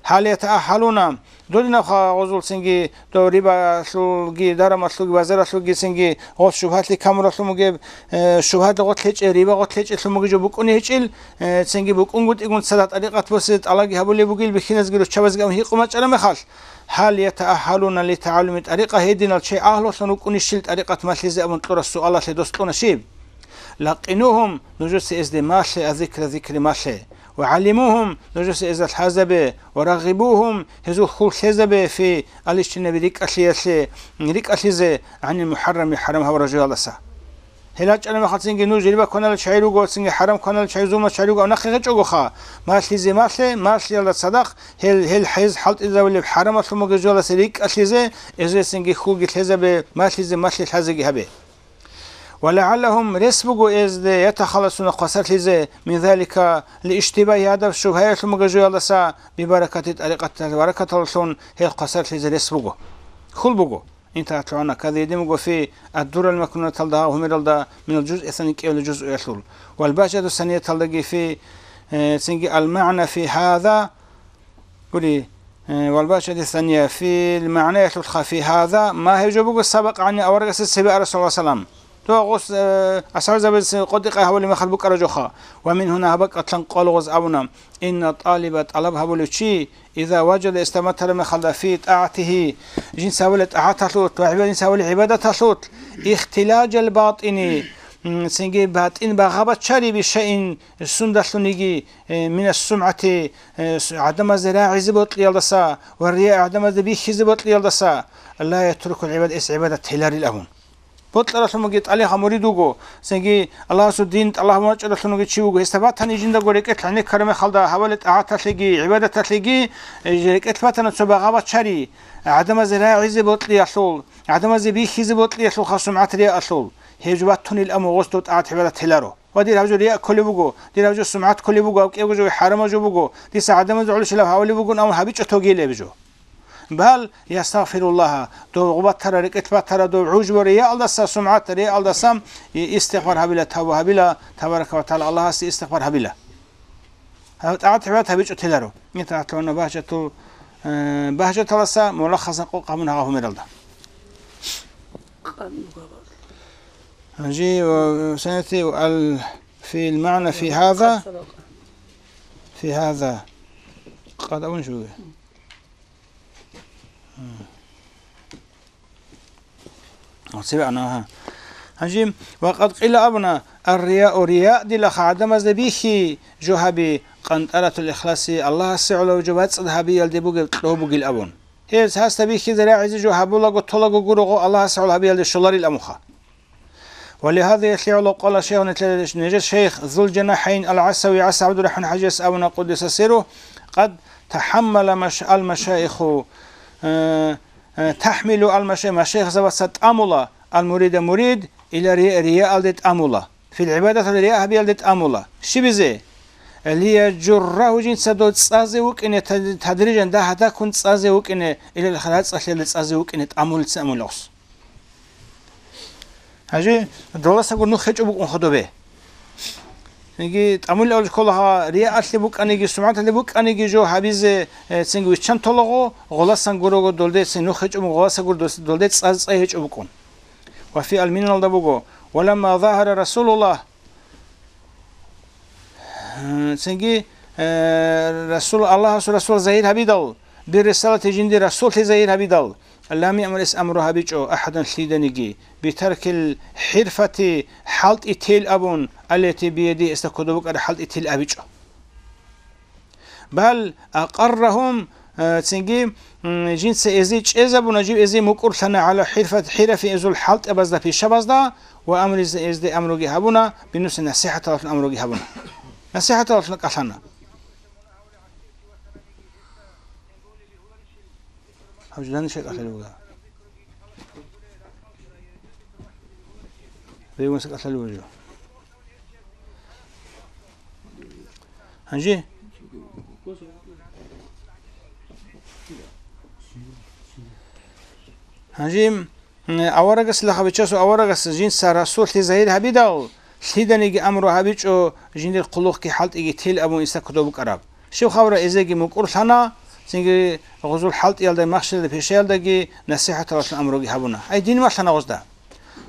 Гьал ятааххалуна, додинабха гъозулцинги, дов рибалъулги, дарамалъулги, базаралъулгицинги, гъос шубгьалъи камуралъун бугеб, э, шубгьалда гъотлъечӀеб, риба гъотлъечӀелъун бугеб жо букӀуней гьечӀил, э, цинги букӀунгутӀигун цадахъ тӀарикъат босизе тӀалабги гьабулеб бугил бихьиназги руччабазги абун гьикъун бачӀараб мехалъ, гьал ятааххалуна литагӀаллуми тӀарикъа, гьединал чей агьлулъун вукӀунищил тӀарикъат малъизе абун кьураб суалалъе дос кьуна щиб? Лакъинугьум, нужеца эзде малъе, аззикра, зикри малъе, ва гӀаллимугьум, нужеца эзда лъазабе, ва рагъибугьум, гьезул хьул лъезабе, фи алищинаби рикӀкӀалъиялъе, рикӀкӀалъизе, гӀанил мухӀаррами, хӀарам гьабураб жоялдаса. Гьел гьачӀараб мехалцинги нуж риба кваналел чагӀи руго, цинги хӀарам кваналел чагӀи, зулмал чагӀи руго, аб нахъе гьечӀогоха. Малъизе малъе, малъиялда цадахъ, гьел, гьел хӀез хӀалтӀизавулеб хӀарамалъун бугеб жоялдаса рикӀкӀалъизе, эзесинги хьулги лъезабе, малъизе малъи лъазеги гьабе. Ва лагӀаллагьум, рес буго эзде, ятахалласуна хвасарлъизе, мин залика, лииштибагьи гьадаб шубгьаялъун бугеб жоялдаса, бибаракати тӀарикъаталъ баракаталлъун гьел хвасарлъизе рес буго. Хьул буго. Интагьатлъугьана кадидин буго фи Аддурал макнунаталда гьав гьумералда минал жузъи сани кӀиявлу жузъуялъул. Вал багьжату санияталдаги фи, э, цинги ал-магӀна фи гьаза, гури, э, вал багьжату сания фил магӀнаялъулха фи гьаза, ма гьев жо буго сабакъ гӀани аварагасда цебе арав саллаллагьу гӀалайгьи ва саллам. Дова гъос, э, асхӀабзабаз къотӀи-къай гьабулеб мехалъ букӀараб жоха. Ва мин гьуна гьаб бакӀалъан къвалгъуз абуна, инна тӀалиба тӀалаб гьабулев чи, иза важада эс тӀаматараб мехалда фи тӀагӀатигьи, жинца гьабулеб тӀагӀаталъулъ ва гӀиба-, жинца гьабулеб гӀибадаталъулъ, ихтилажал батӀини, м, цинги батӀин багъа-бачари бишаин сундалъуниги, э, минас сумгӀати, э, с-, гӀадамазде рагӀизе бокьиялдаса ва рия гӀадамазде бихьизе бокьиялдаса, ла ятрукул гӀибад, эс гӀибадат теларил абун. Бокьаралъун бугеб тӀалихъа мурид вуго, цинги Аллагьасул дин тӀалаб гьабун вачӀаралъун вугев чи вуго, гьесда батани жиндаго рекӀелъ гӀенеккараб мехалда гьабулеб тӀагӀаталъеги, гӀибадаталъеги, э, рекӀелъ батана цо багъа-бачари, гӀадамазде рагӀизе бокьиялъул, гӀадамазде бихьизе бокьиялъулха сумгӀат-риаалъул, гьеб жо батунил абун гъос дов тӀагӀат-гӀибадат теларо. Ва дир гьаб жо рия кколеб буго, дир гьаб жо сумгӀат кколеб буго, гьаб кӀиябго жо хӀарамаб жо буго, дица гӀадамазда гӀоло щилаб гьавулеб бугун абун гьабичӀо тогилеб жо. Бал ястагъфируллагьа, дов гъубатара, рекӀелъ батара, дов гӀужбу риялдаса, сумгӀат риялдаса, и-, истигъфар гьабила, тавба гьабила, табарака ва тагӀала Аллагьасе истигъфар гьабила. Гьав тӀагӀат-гӀибадат гьабичӀо теларо. ИтагӀатлъугьана багьжатул, э, багьжаталаса мулаххасан къокъ гьабун гьагъа гьумералда. Жи ва санати ал фил магӀна фи гьаза, фи гьаза. Къад абун шуге. Цебе ана, гьа. Гьанже, ва къад къила абуна, ар-рияу, рия дилаха гӀадамазда бихьи жо гьаби, къантӀаратул ихласи Аллагьасе гӀоло жо бацӀцӀад гьабиялде бугеб кьо бугил абун. Гьез гьасда бихьизе рагӀизе жо гьабулаго толаго гурого Аллагьасе гӀоло гьабиялде щоларил абунха. ولهذا, гьелъие гӀоло, قال شيخنا, нижер шейх ذو الجناحين العسوي ГӀиса ГӀабдурахӀман ХӀажияс абуна, قدس سره: قد تحمل مش-, المشايخ, э, э, تحمل المشايخ, машайихзабаца тӀамула, المريد, мурид, إلى الرياء, риялде тӀамула, في العبادة, рия гьабиялде тӀамула. Щибизе? ليجره, жинца дов цӀазе вукӀине, тад-, تدريجا, дагь-дагьккун цӀазе вукӀине, إلى الخير, рацӀцӀалъиялде цӀазе вукӀине тӀамулецин амулев гьес. Гьанже доласаго нух гьечӀо букӀун хадубе. Цинги тӀамулев кколаго, риялъе букӀаниги, сумгӀаталъе букӀаниги жо гьабизе, э, цинги виччан толаго, гъоласан гурого долде цин нух гьечӀо букӀун, гъоласагур дос-, долде цӀа-, цӀай гьечӀо букӀун. Ва фи ал-минаналда буго: ولما ظهر رسول الله, цинги, э, Расул, Аллагьасул Расул загьир гьабидал, بالرسالة, жиндир расуллъи загьир гьабидал, لم يأمر, эс амру гьабичӀо, أحدا, лъиданиги, بترك الحرفة, хӀалтӀи тел абун, التي بيده, эсда кодоб букӀараб хӀалтӀи тел абичӀо. بل أقرهم, э, цинги, м, жинца эзие чӀезабуна, жив эзие мукӀурлъана على الحرفة, хӀирафи, эзул хӀалтӀабазда, пишабазда, ва амризе, эзде амруги гьабуна, بالنصح, насихӀаталъун амруги гьабуна. НасихӀаталъун кӀалъана. Гьав жидани шай кӀалъалев вуго. Бегунса кӀалъалев вуго. Гьанже? Гьанже, м, аварагасила хабичасул аварагас жинца расуллъи загьир гьабидал, лъиданиги амру гьабичӀо, жиндир хъулухъги хӀалтӀиги тел абун иса кодоб букӀараб. Щиб хабар, эзеги мукӀурлъана, цинги гъузул хӀалтӀиялда, махщелалда, пишаялдаги насихӀаталъун амруги гьабуна. Ай дин малъана гъузда.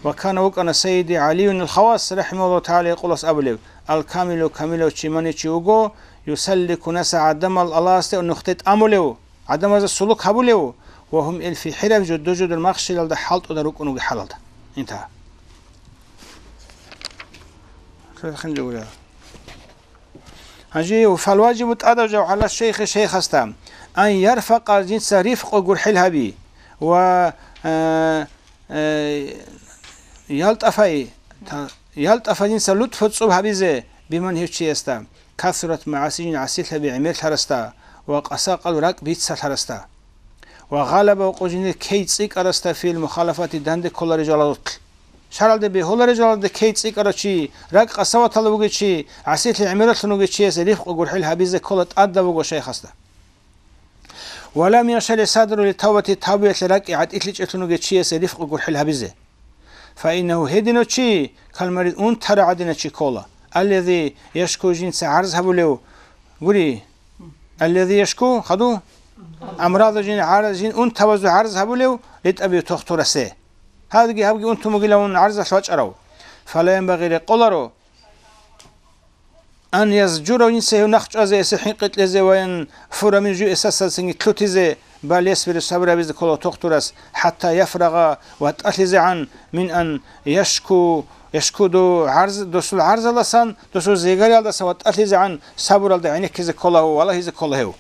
Ва кана, вукӀана Сайиди ГӀалиюнил Хавас, рахӀимагьуллагьу тагӀала, гьекъолас абулеб: «Ал-камилу, камилав чи мани чи вуго, юсаллику наса, гӀадамал Аллагьасде нухде тӀамулев, гӀадамазда сулук гьабулев, ва гьум ил фи хӀираб, жодо-жодор махщелалда хӀалтӀуда рукӀун вугеб хӀалалда». Интагьа. Гьанже, фалважибу, тӀадаб жо гӀала шейхи, шейхасда, ан ярфакъа, жинца рифкъу гурхӀел гьаби, ва, э, э, ялтӀафай, та-, ялтӀафа, жинца лутфу цӀуб гьабизе, биман, гьев чиясда, касурат магӀаси, жин гӀасилъаби гӀемерлъарасда ва къасакъал ракӀ бицалъарасда, ва гъалаба, ва къо жиндир кей цӀикӀкӀарасда, фил мухалафати, данде кколарел жалазулъ. ШаргӀалде бегьуларел жалазда кей цӀикӀкӀарав чи, ракӀ къасаваталда вугев чи, гӀасилъи гӀемералъун вугев чиясе рифкъу гурхӀел гьабизе ккола тӀадаб буго шайхасда. Ва лам яншарихӀ садругьу литавбати, тавбаялъе ракӀи гӀатӀилъичӀелъун вугев чиясе рифкъу гурхӀел гьабизе. Фаиннагьу, гьединав чи, калмарид, унтарав гӀадинав чи ккола, аллази яшку, жинца гӀарз гьабулев, гури, аллази яшку, хаду? Амраду, жин гӀарз, жин унтабазул гӀарз гьабулев, литӀабиби, тухтурасе. Гьабги, гьабги унтун бугилавун гӀарзалъ вачӀарав. Фала янбагъи, рекъоларо, ан язжура, жинца гьев нахъ чӀвазе, эсе хӀинкъи кьезе, ва янфура мингьу, жив эсасацинги лъутизе, бал ясбиру, сабру гьабизе ккола тухтурас, хӀатта яфрагъа, ватӀалъизегӀан, мин ан яшку, яшку, дов гӀарз-, досул гӀарзалдасан, досул зигариялдасан ватӀалъизегӀан, сабуралда гӀенеккизе ккола гьев, валагьизе ккола гьев.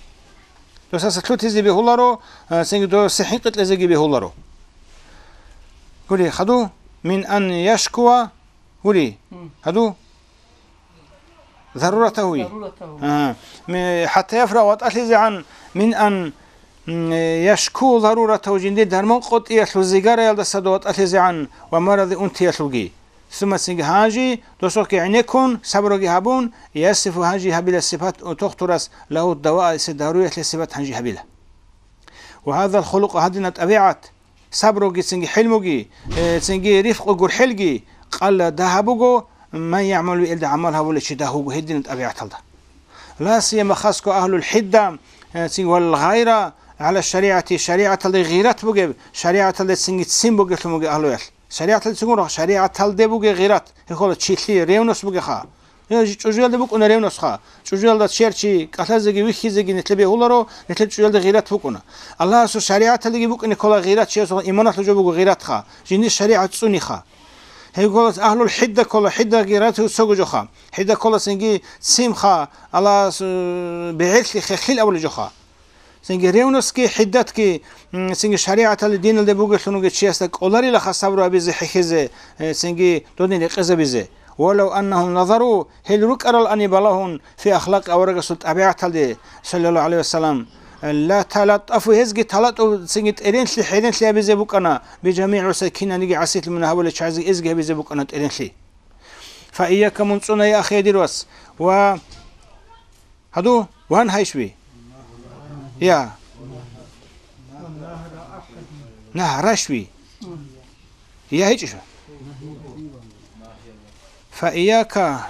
Досаса лъутизе бегьуларо, а, цинги досе хӀинкъи кьезеги бегьуларо. Гури, хаду, мин ан яшкуа, гури, хаду, заруратагьу. Заруратагьу. А, ми-, хӀатта яфрагъа, ватӀалъизегӀан, мин ан, м, яшку заруратагьу, жиндир дарман къотӀиялъул, зигараялдаса дов ватӀалъизегӀан ва марази, унтиялъулги. Сумма, цинги гьанжи, досухъги гӀенеккун, сабруги гьабун, ясифу, гьанжи гьабила сипат, тухтурас, лагьу даваа, эсе даруялъе сипат гьанжи гьабила. Ва гьазал хулукъу, гьадина тӀабигӀат, сабруги, цинги хӀилмуги, э, цинги рифкъу гурхӀелги, къалла, дагьаб буго, ман ягӀмалу, элда гӀамал гьабулев чи дагь вуго гьедина тӀабигӀаталда. Ла сияма, хасго, агьлул хӀидда, э, цинги вал гъайра гӀала шаригӀати, шаригӀаталде гъират бугеб, шаригӀаталде цинги ццин бугеблъун бугеб агьлуялъ. ШаригӀаталде цугун рахъ, шаригӀаталде бугеб гъират, гьехъола чилъи, ревность бугеха. Гьев чӀужуялда букӀуна ревностьха. ЧӀужуялда чияр чи кӀалъазеги вихьизеги нилъе бегьуларо, нилъер чӀужуялда гъират букӀуна. Аллагьасул шаригӀаталдеги букӀине ккола гъират, чиясул иманалъул жо буго гъиратха, жиндир шаригӀат цӀуниха. Гьеб ккола агьлул хӀидда ккола, хӀиддаги рату цого жоха. ХӀидда ккола цинги цимха, Аллагьас, э, бегӀерлъи хехил абулеб жоха. Цинги ревностьги, хӀиддатги, м, цинги шаригӀаталде, диналде бугелъун вугев чиясда кӀоларилаха сабру гьабизе, хӀехьезе, э, цинги додин рекъезабизе. Валав аннагьум назару, гьел рукӀарал ани балагьун, фи ахлакъи аварагасул тӀабигӀаталде, саллаллагьу гӀалайгьи вассалам, ла талаттафу, гьезги талатӀу цинги тӀеренлъи, хӀеренлъи гьабизе букӀана, бижамигӀи гӀуса кинаниги гӀасилъи мунагь гьабулел чагӀазги эзги гьабизе букӀана тӀеренлъи. Фа ийяка, мун цӀуна, я ахи, дир вас, ва гьаду, ван гьайшви? Я. Нагь рашви? Я гьечӀищ? Фа ийяка.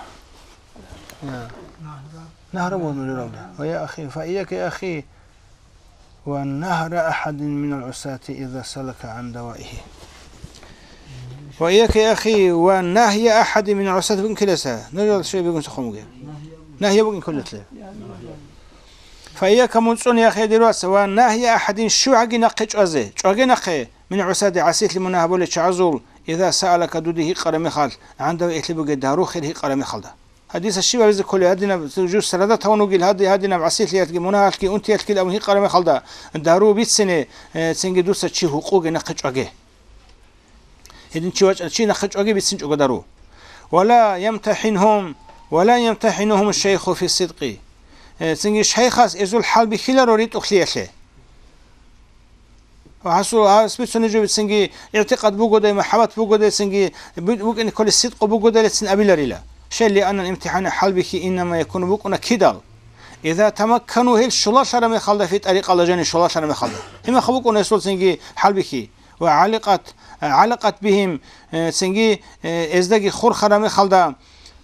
Я. Нагьра вон рирабда. Ва я ахи, фа ийяка, я ахи, ва нагьра ахадин минал гӀусати иза салака гӀан даваихи. Ва ийяка, я ахи, ва нагья ахадин минал гӀусати букӀин ккелеса. Нужал шей бегун сахъумуге. Нагья букӀин кколетле. Фа ийяка, мун цӀуна, я ахи, дир вас, ва нагья ахадин, щивгӀаги нахъе чӀвазе, чӀваге нахъе, мин гӀусати, гӀасилъи мунагь гьабулел чагӀазул, иза саалака, дуде гьикъараб мехалъ, гӀан даваихи, бугеб дару хир гьикъараб мехалда. Гьадисалъ щиб гьабизе кколеб, гьадинаб жуз сарадат гьавун вугил, гьади-, гьадинаб гӀасилъиялъги, мунагьалъги, унтиялъги абун гьикъараб мехалда, дару бицине, э, цинги дуца чи гьукъуге нахъе чӀваге. Гьедин чи вачӀа, чи нахъе чӀваги бицинчӀого дару. Ва ла ямтахӀинхум, ва ла ямтахӀинухум шайху фи сидкъи. Э, цинги шайхас эзул хӀалбихьиларо ритӀухълъиялъе. Ва гьасул, гьас бицунеб жо бицинги, игӀтикъад бугодай, махӀаббат бугодай, цинги бу-, букӀине кколеб сидкъу бугодайлицин абиларила. Шел лианнал имтихӀана хӀалбихьи иннама якуну, букӀуна кидал. Иза тамаккану, гьел щулалъараб мехалда, фи тӀарикъала жанив щулалъараб мехалда. Гьеб мехалъ букӀуна гьесул цинги хӀалбихьи. Ва гӀаликъат, гӀалакъат бигьим, э, цинги, э, эздаги хурхараб мехалда,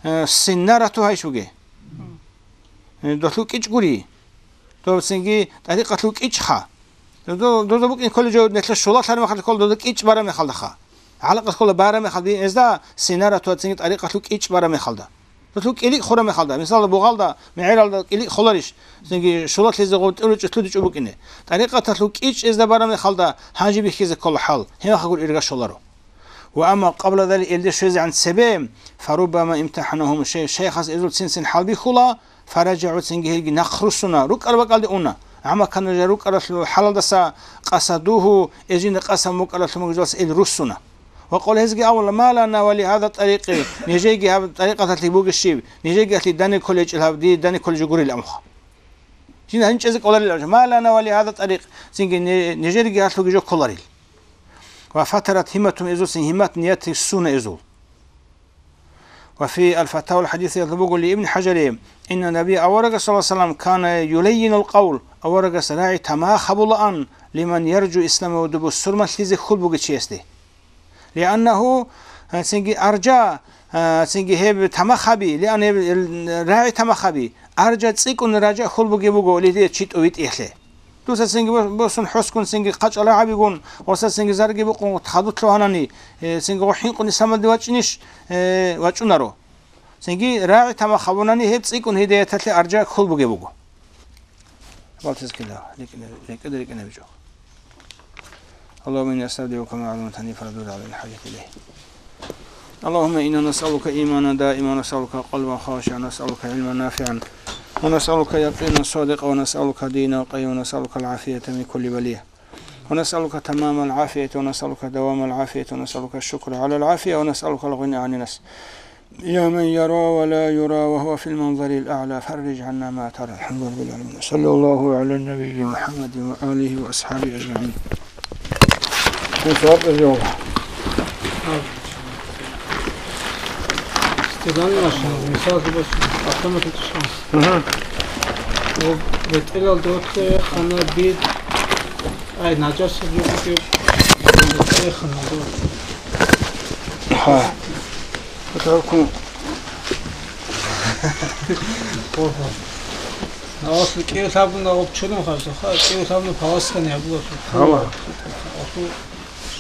э, синнарату гьайшуге. Э, долъул кӀичӀ гури. Дов цинги тӀарикъалъул кӀичӀха. Доза, доза букӀин кколеб жо нилъер щулалъараб мехалда ккола, доза кӀичӀ бараб мехалдаха. ГӀалакъат ккола бараб мехалда, гьезда синарат ва цинги тӀарикъалъул кӀичӀ бараб мехалда. Дозул кӀиликъ хураб мехалда. Мисалда, бугъалда, мегӀералда кӀиликъ холарищ? Цинги щулалъизе гъоб тӀуричӀо, лъудичӀо букӀине. ТӀарикъаталъул кӀичӀ гьезда бараб мехалда гьанже бихьизе ккола хӀал. Гьеб мехалъ гури ирга щоларо. Ва амма къабла залик, гьелде щвезегӀан цебе, фаруббама имтахӀанагьум шей-, шейхас эзул цин-цин хӀалбихьула, фараджагӀу, цинги гьелги нахъ руссуна, рукӀараб бакӀалде уна. ГӀамаккана жа рукӀаралъул хӀалалдаса къасадугьу, эзинда къасаб мукӀаралъумагзулас ил руссуна. Ва къала, гьезги абула, ма лана ва ли гьаза тӀарикъи, нижеги гьаб тӀарикъаталъе бугищ щиб, нижеги гьалъи дани кколечӀел гьаб, дие дани кколечӀо гурил амха. Жин гьанчӀезе кӀоларил абула, ма лана ва ли гьаза тӀарикъ, цинги не-, нижерги гьалъуги жо кколарил. Ва фатарат гьимматум, эзусин гьиммат, ният ссуна эзул. Ва фи аль-Фатавал хӀадисиялда буго ли Ибн ХӀажари, инна Набия, аварагас, саллаллагьу гӀалайгьи ва саллам, кана юлаййинул къавл, аварагас рагӀи тамах гьабулаан, лиман яржу ислама, ва дубу сурмалъизе хьул бугев чиясде. Лианнагьу, цинги аржа, цинги гьеб тамах гьаби, лиан гьеб рагӀи тамах гьаби, аржа цӀикӀкӀун ража хьул бугеб буго, лилие чи тӀовитӀиялъе. Дуца цинги бо-, босун хӀоскун цинги хъачӀал рагӀабигун, ва цинги зарги букъун хадур лъугьанани, э, цинги гъо хӀинкъун исламалде вачӀинищ, э, вачӀунаро. Цинги рагӀи тамах гьабунани гьеб цӀикӀкӀун гьидаяталъе аржа хьул бугеб буго. Балтизкила, рикӀкӀине-, рикӀкӀине-, рикӀкӀинабичӀо. اللهم إني أستودعك ما علمتني فردده علي، الحاجة إليه. اللهم إنا نسألك إيمانا دائما، ونسألك قلبا خاشعا، ونسألك علما نافعا، ونسألك يقينا صادقا، ونسألك دينا قيما، ونسألك العافية من كل بلية، ونسألك تمام العافية، ونسألك دوام العافية، ونسألك الشكر على العافية، ونسألك الغنى عن الناس. يا من يرى ولا يرى وهو في المنظر الأعلى، فرج عنا ما ترى. الحمد لله رب العالمين. صلى الله على النبي محمد وآله وأصحابه أجمعين. Стедан машина, мисал, автомат. Мгм. Бетелал доте, хана бит, ай, наджас, бит, бит, бит, хана бит. Гьа. Гьатаркун. Ого. Навас кӀиу лъабгун гъоб чурун хаза, ха, кӀиу лъабну паласкани гьабула. Гьава.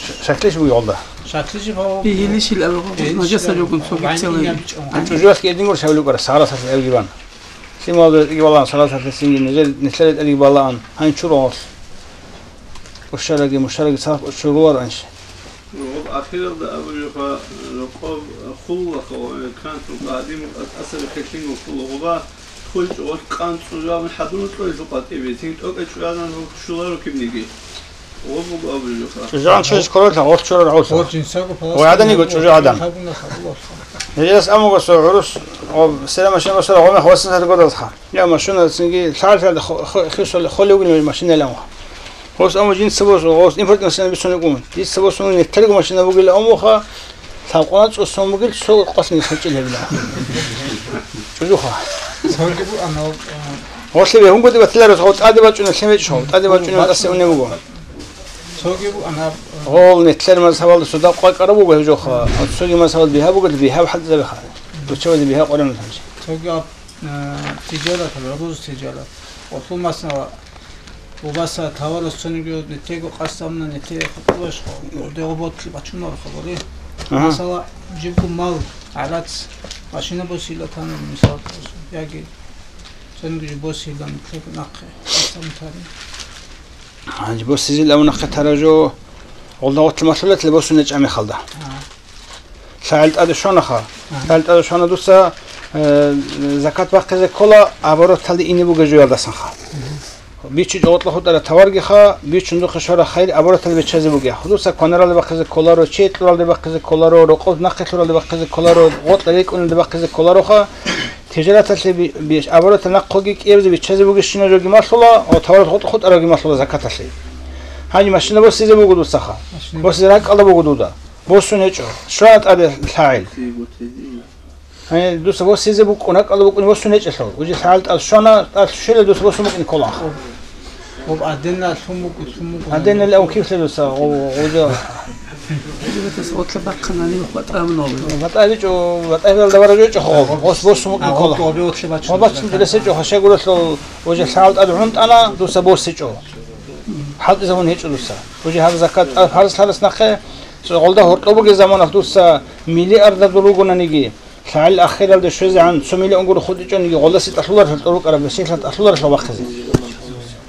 Шу-, шаклиш бугъалда. Шаклиш бу-, Бигьилищил абу, Бигьилищил нажаса абу. Жогун цо Вань бицелай. Ин ябичӀо. ЧӀужуялъ гьедин гур шавлукъара, сагъара сас элгиван. Лъималда гьеб балагьун, салаталъе цинги нижер нилъеда тӀадеги балагьун, гьанчуралъ. Ушараги, мушараги цадахъ чуруар анщи. Ахиралда абулебха, рокъоб хуллаха ва кантун къадимун тӀасаби хилъингун хулугъуба, хулчӀо ва къанцӀу жаваб хӀадурун кьолелъул къватӀибе, цин тӀокӀа чӀуязан щуларо кибниги. Гъоб буго абулебха. ЧӀужугӀан чӀужуз кколелъа, гъоркь чурар гӀолъа. Гъоркь жинсаго палас Ой, гӀадан йиго чӀужугӀадан. Гьабуна хабулалъа. Гьелдас амуго цо гӀурус, о, сера машина босара гъомехъ василъат годалха. Я машина цинги лъалъалда хо-, хо-, хисули холевгин машина лямуха. Гъос аму жинца босун, гъос импортный машина бицунеб гун. Дица босун неттерго машина бугила амуха, лъабкъона цӀусон бугил, цо къослъни хӀанчӀил гьебила. ЧӀужуха. Цоги бу анал, а, Гъослъи бегьунгоди батиларус, гъо тӀаде бачӀуна лъим вечӀо, тӀаде бачӀуна тӀасе унеб буго. Цоги бу анал, а, Гъол неттлъер мазгьабалда суда къвакӀараб буго гьев жоха. Цоги мазгьабал бигьа буго, бигьа хӀалтӀизабиха. Руччабазе бигьа къоран лъанчи. Цоги аб, а, тиджарат, рузу тиджарат. Гъослъул масала, Убаса таварас цониги нетего къасамна нете хутӀулаш хо, дего ботли бачунар хабари. Ага. Масала, жибгу мал, гӀарац, машина босила тана, мисал, яги цониги жиб босила нетего нахъе, къасам тани. Гьанже босизил абу нахъе таражо, гъолда гъотлъи малъулатли босуне чӀамихалда. Ага. ЛъагӀел тӀаде щванаха. Ага. ЛъагӀел тӀаде щвана дуца, э, закат бахъизе ккола, обороталде ине бугеб жоялдасанха. Мгм. БичӀчӀо гъоркьа хутӀара таваргиха, бичун духъе щвара хайир обороталде биччазе бугеха. Дуца кванаралде бахъизе кколаро, чей кьуралде бахъизе кколаро, рокъоб нахъе лъуралде бахъизе кколаро, гъоркьа рекӀуналде бахъизе кколароха, тижараталъе би-, би-, оборотал нахъоги кӀиябизе биччазе бугещинаб жоги малъула, ва таварат гъоркьа хутӀаравги малъула закаталъе. Гьанже машина босизе буго дуцаха. Машина. Босизе ракӀалда буго дуда. Босун гьечӀо. Щвана тӀаде лъагӀел. Гьанже дуца босизе букӀун, ракӀалда букӀун босун гьечӀелъул. Уже лъагӀел тӀад щвана, тӀад щвела дуца босун букӀин ккола. Об, об аденна лъумугу, лъумугу. Аденна лев кивлъе дуца, о, уже. Отле бахъана, нив хватӀа много. ВатӀа гьечӀо, ватӀа гьелда вара гьечӀо хо. Бос, босун букӀин ккола. Обе отле бачун. Ва бачун дилесе чӀо, хашагуралъул уже лъагӀел тӀад гӀунтӀана, дуца босичӀо. ХӀалтӀизабун гьечӀо дуца. Уже гьаб закат тӀад фарз лъарас нахъе, цо гъолда гьоркьоб бугеб заманах дуца миллиардадул ругонаниги, лъагӀел ахиралде щвезегӀан цо миллион гуро хутӀичӀониги, гъолдасе тӀалъуларелъул тӀурукъараб, бесилъан тӀалъуларелъул бахъизе.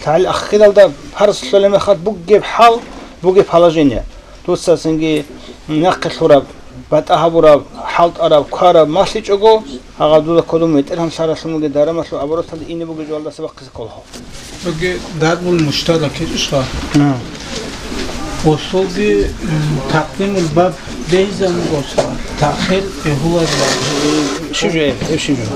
ЛъагӀел ахиралда фарз лъолеб мехалъ бугеб хӀал, бугеб положение. Дуца цинги нахъе лъураб, батӀа гьабураб, хӀалтӀараб, квараб малъичӀого, гьагъа дуда кодум ветӀергьан лъаралъун бугеб дарамалъул обороталде ине бугеб жоялдаса бахъизе кколаха. Цоги дарбул муштарак гьечӀищха? Гьа. Гъосулги, м, такъдимул баб бегьизабун гъосла, таъхир бегьуларила. Щиб жо, гьеб щиб жо?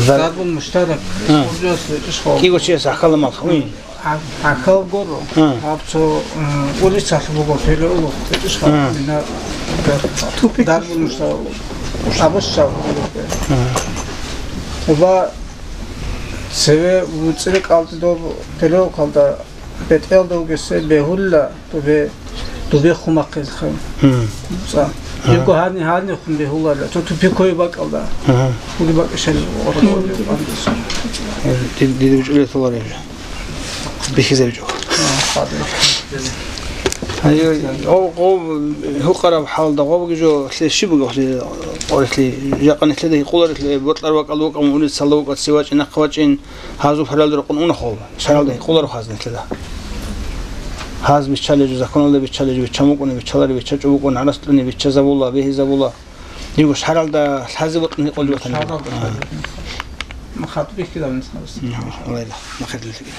Зар- Дарбул муштарак. Гьа. Гъосулас гьечӀищха? Киго чияс гӀахьалла малх, уй. А-, гӀахьал гуро. Гьа. Гьаб цо, м, улицалъ буго переулок гьечӀищха? Гьа. Ина Тупик. Дарбул муштарак. Абуш чагӀ. Гьа. Уба Цеве вуцӀире кӀалтӀи доб переулкалда бетӀелда вугесе бегьулла, дубе, дубе хумахъезехъе. Мгм. ЦӀа. Ага. Жибго гьарни, гьарнихъун бегьуларила, цо тупиковый бакӀалда. Ага. Ули бакӀишал. Дид-, диде учӀулей толареб жо. БихьизабичӀо. Гьайо, гъо-, гъо-, гьукъараб хӀалда гъобги жо лъе щиб буго лъе, къорихълъи, жакъа нилъеда гьикъуларелъе, бокьар бакӀал вукӀа, мугӀнилъ цалда вукӀа, цевачӀин, нахъвачӀин, гьазул паралда рукъун уна хъо, шаралда гьикъуларо хаз нилъеда. Гьаз биччалеб жо, законалда биччалеб жо, биччан букӀуна, биччаларе, биччачӀо букӀуна, гӀарац кьуни, биччазабула, бегьизабула. Дигу шаралда лъазе бокьун гьикъулги батана. Шаралда. А. Ма хатӀ бихьидал нисмалас. М, Аллагьла, ма хатӀ бихьидал.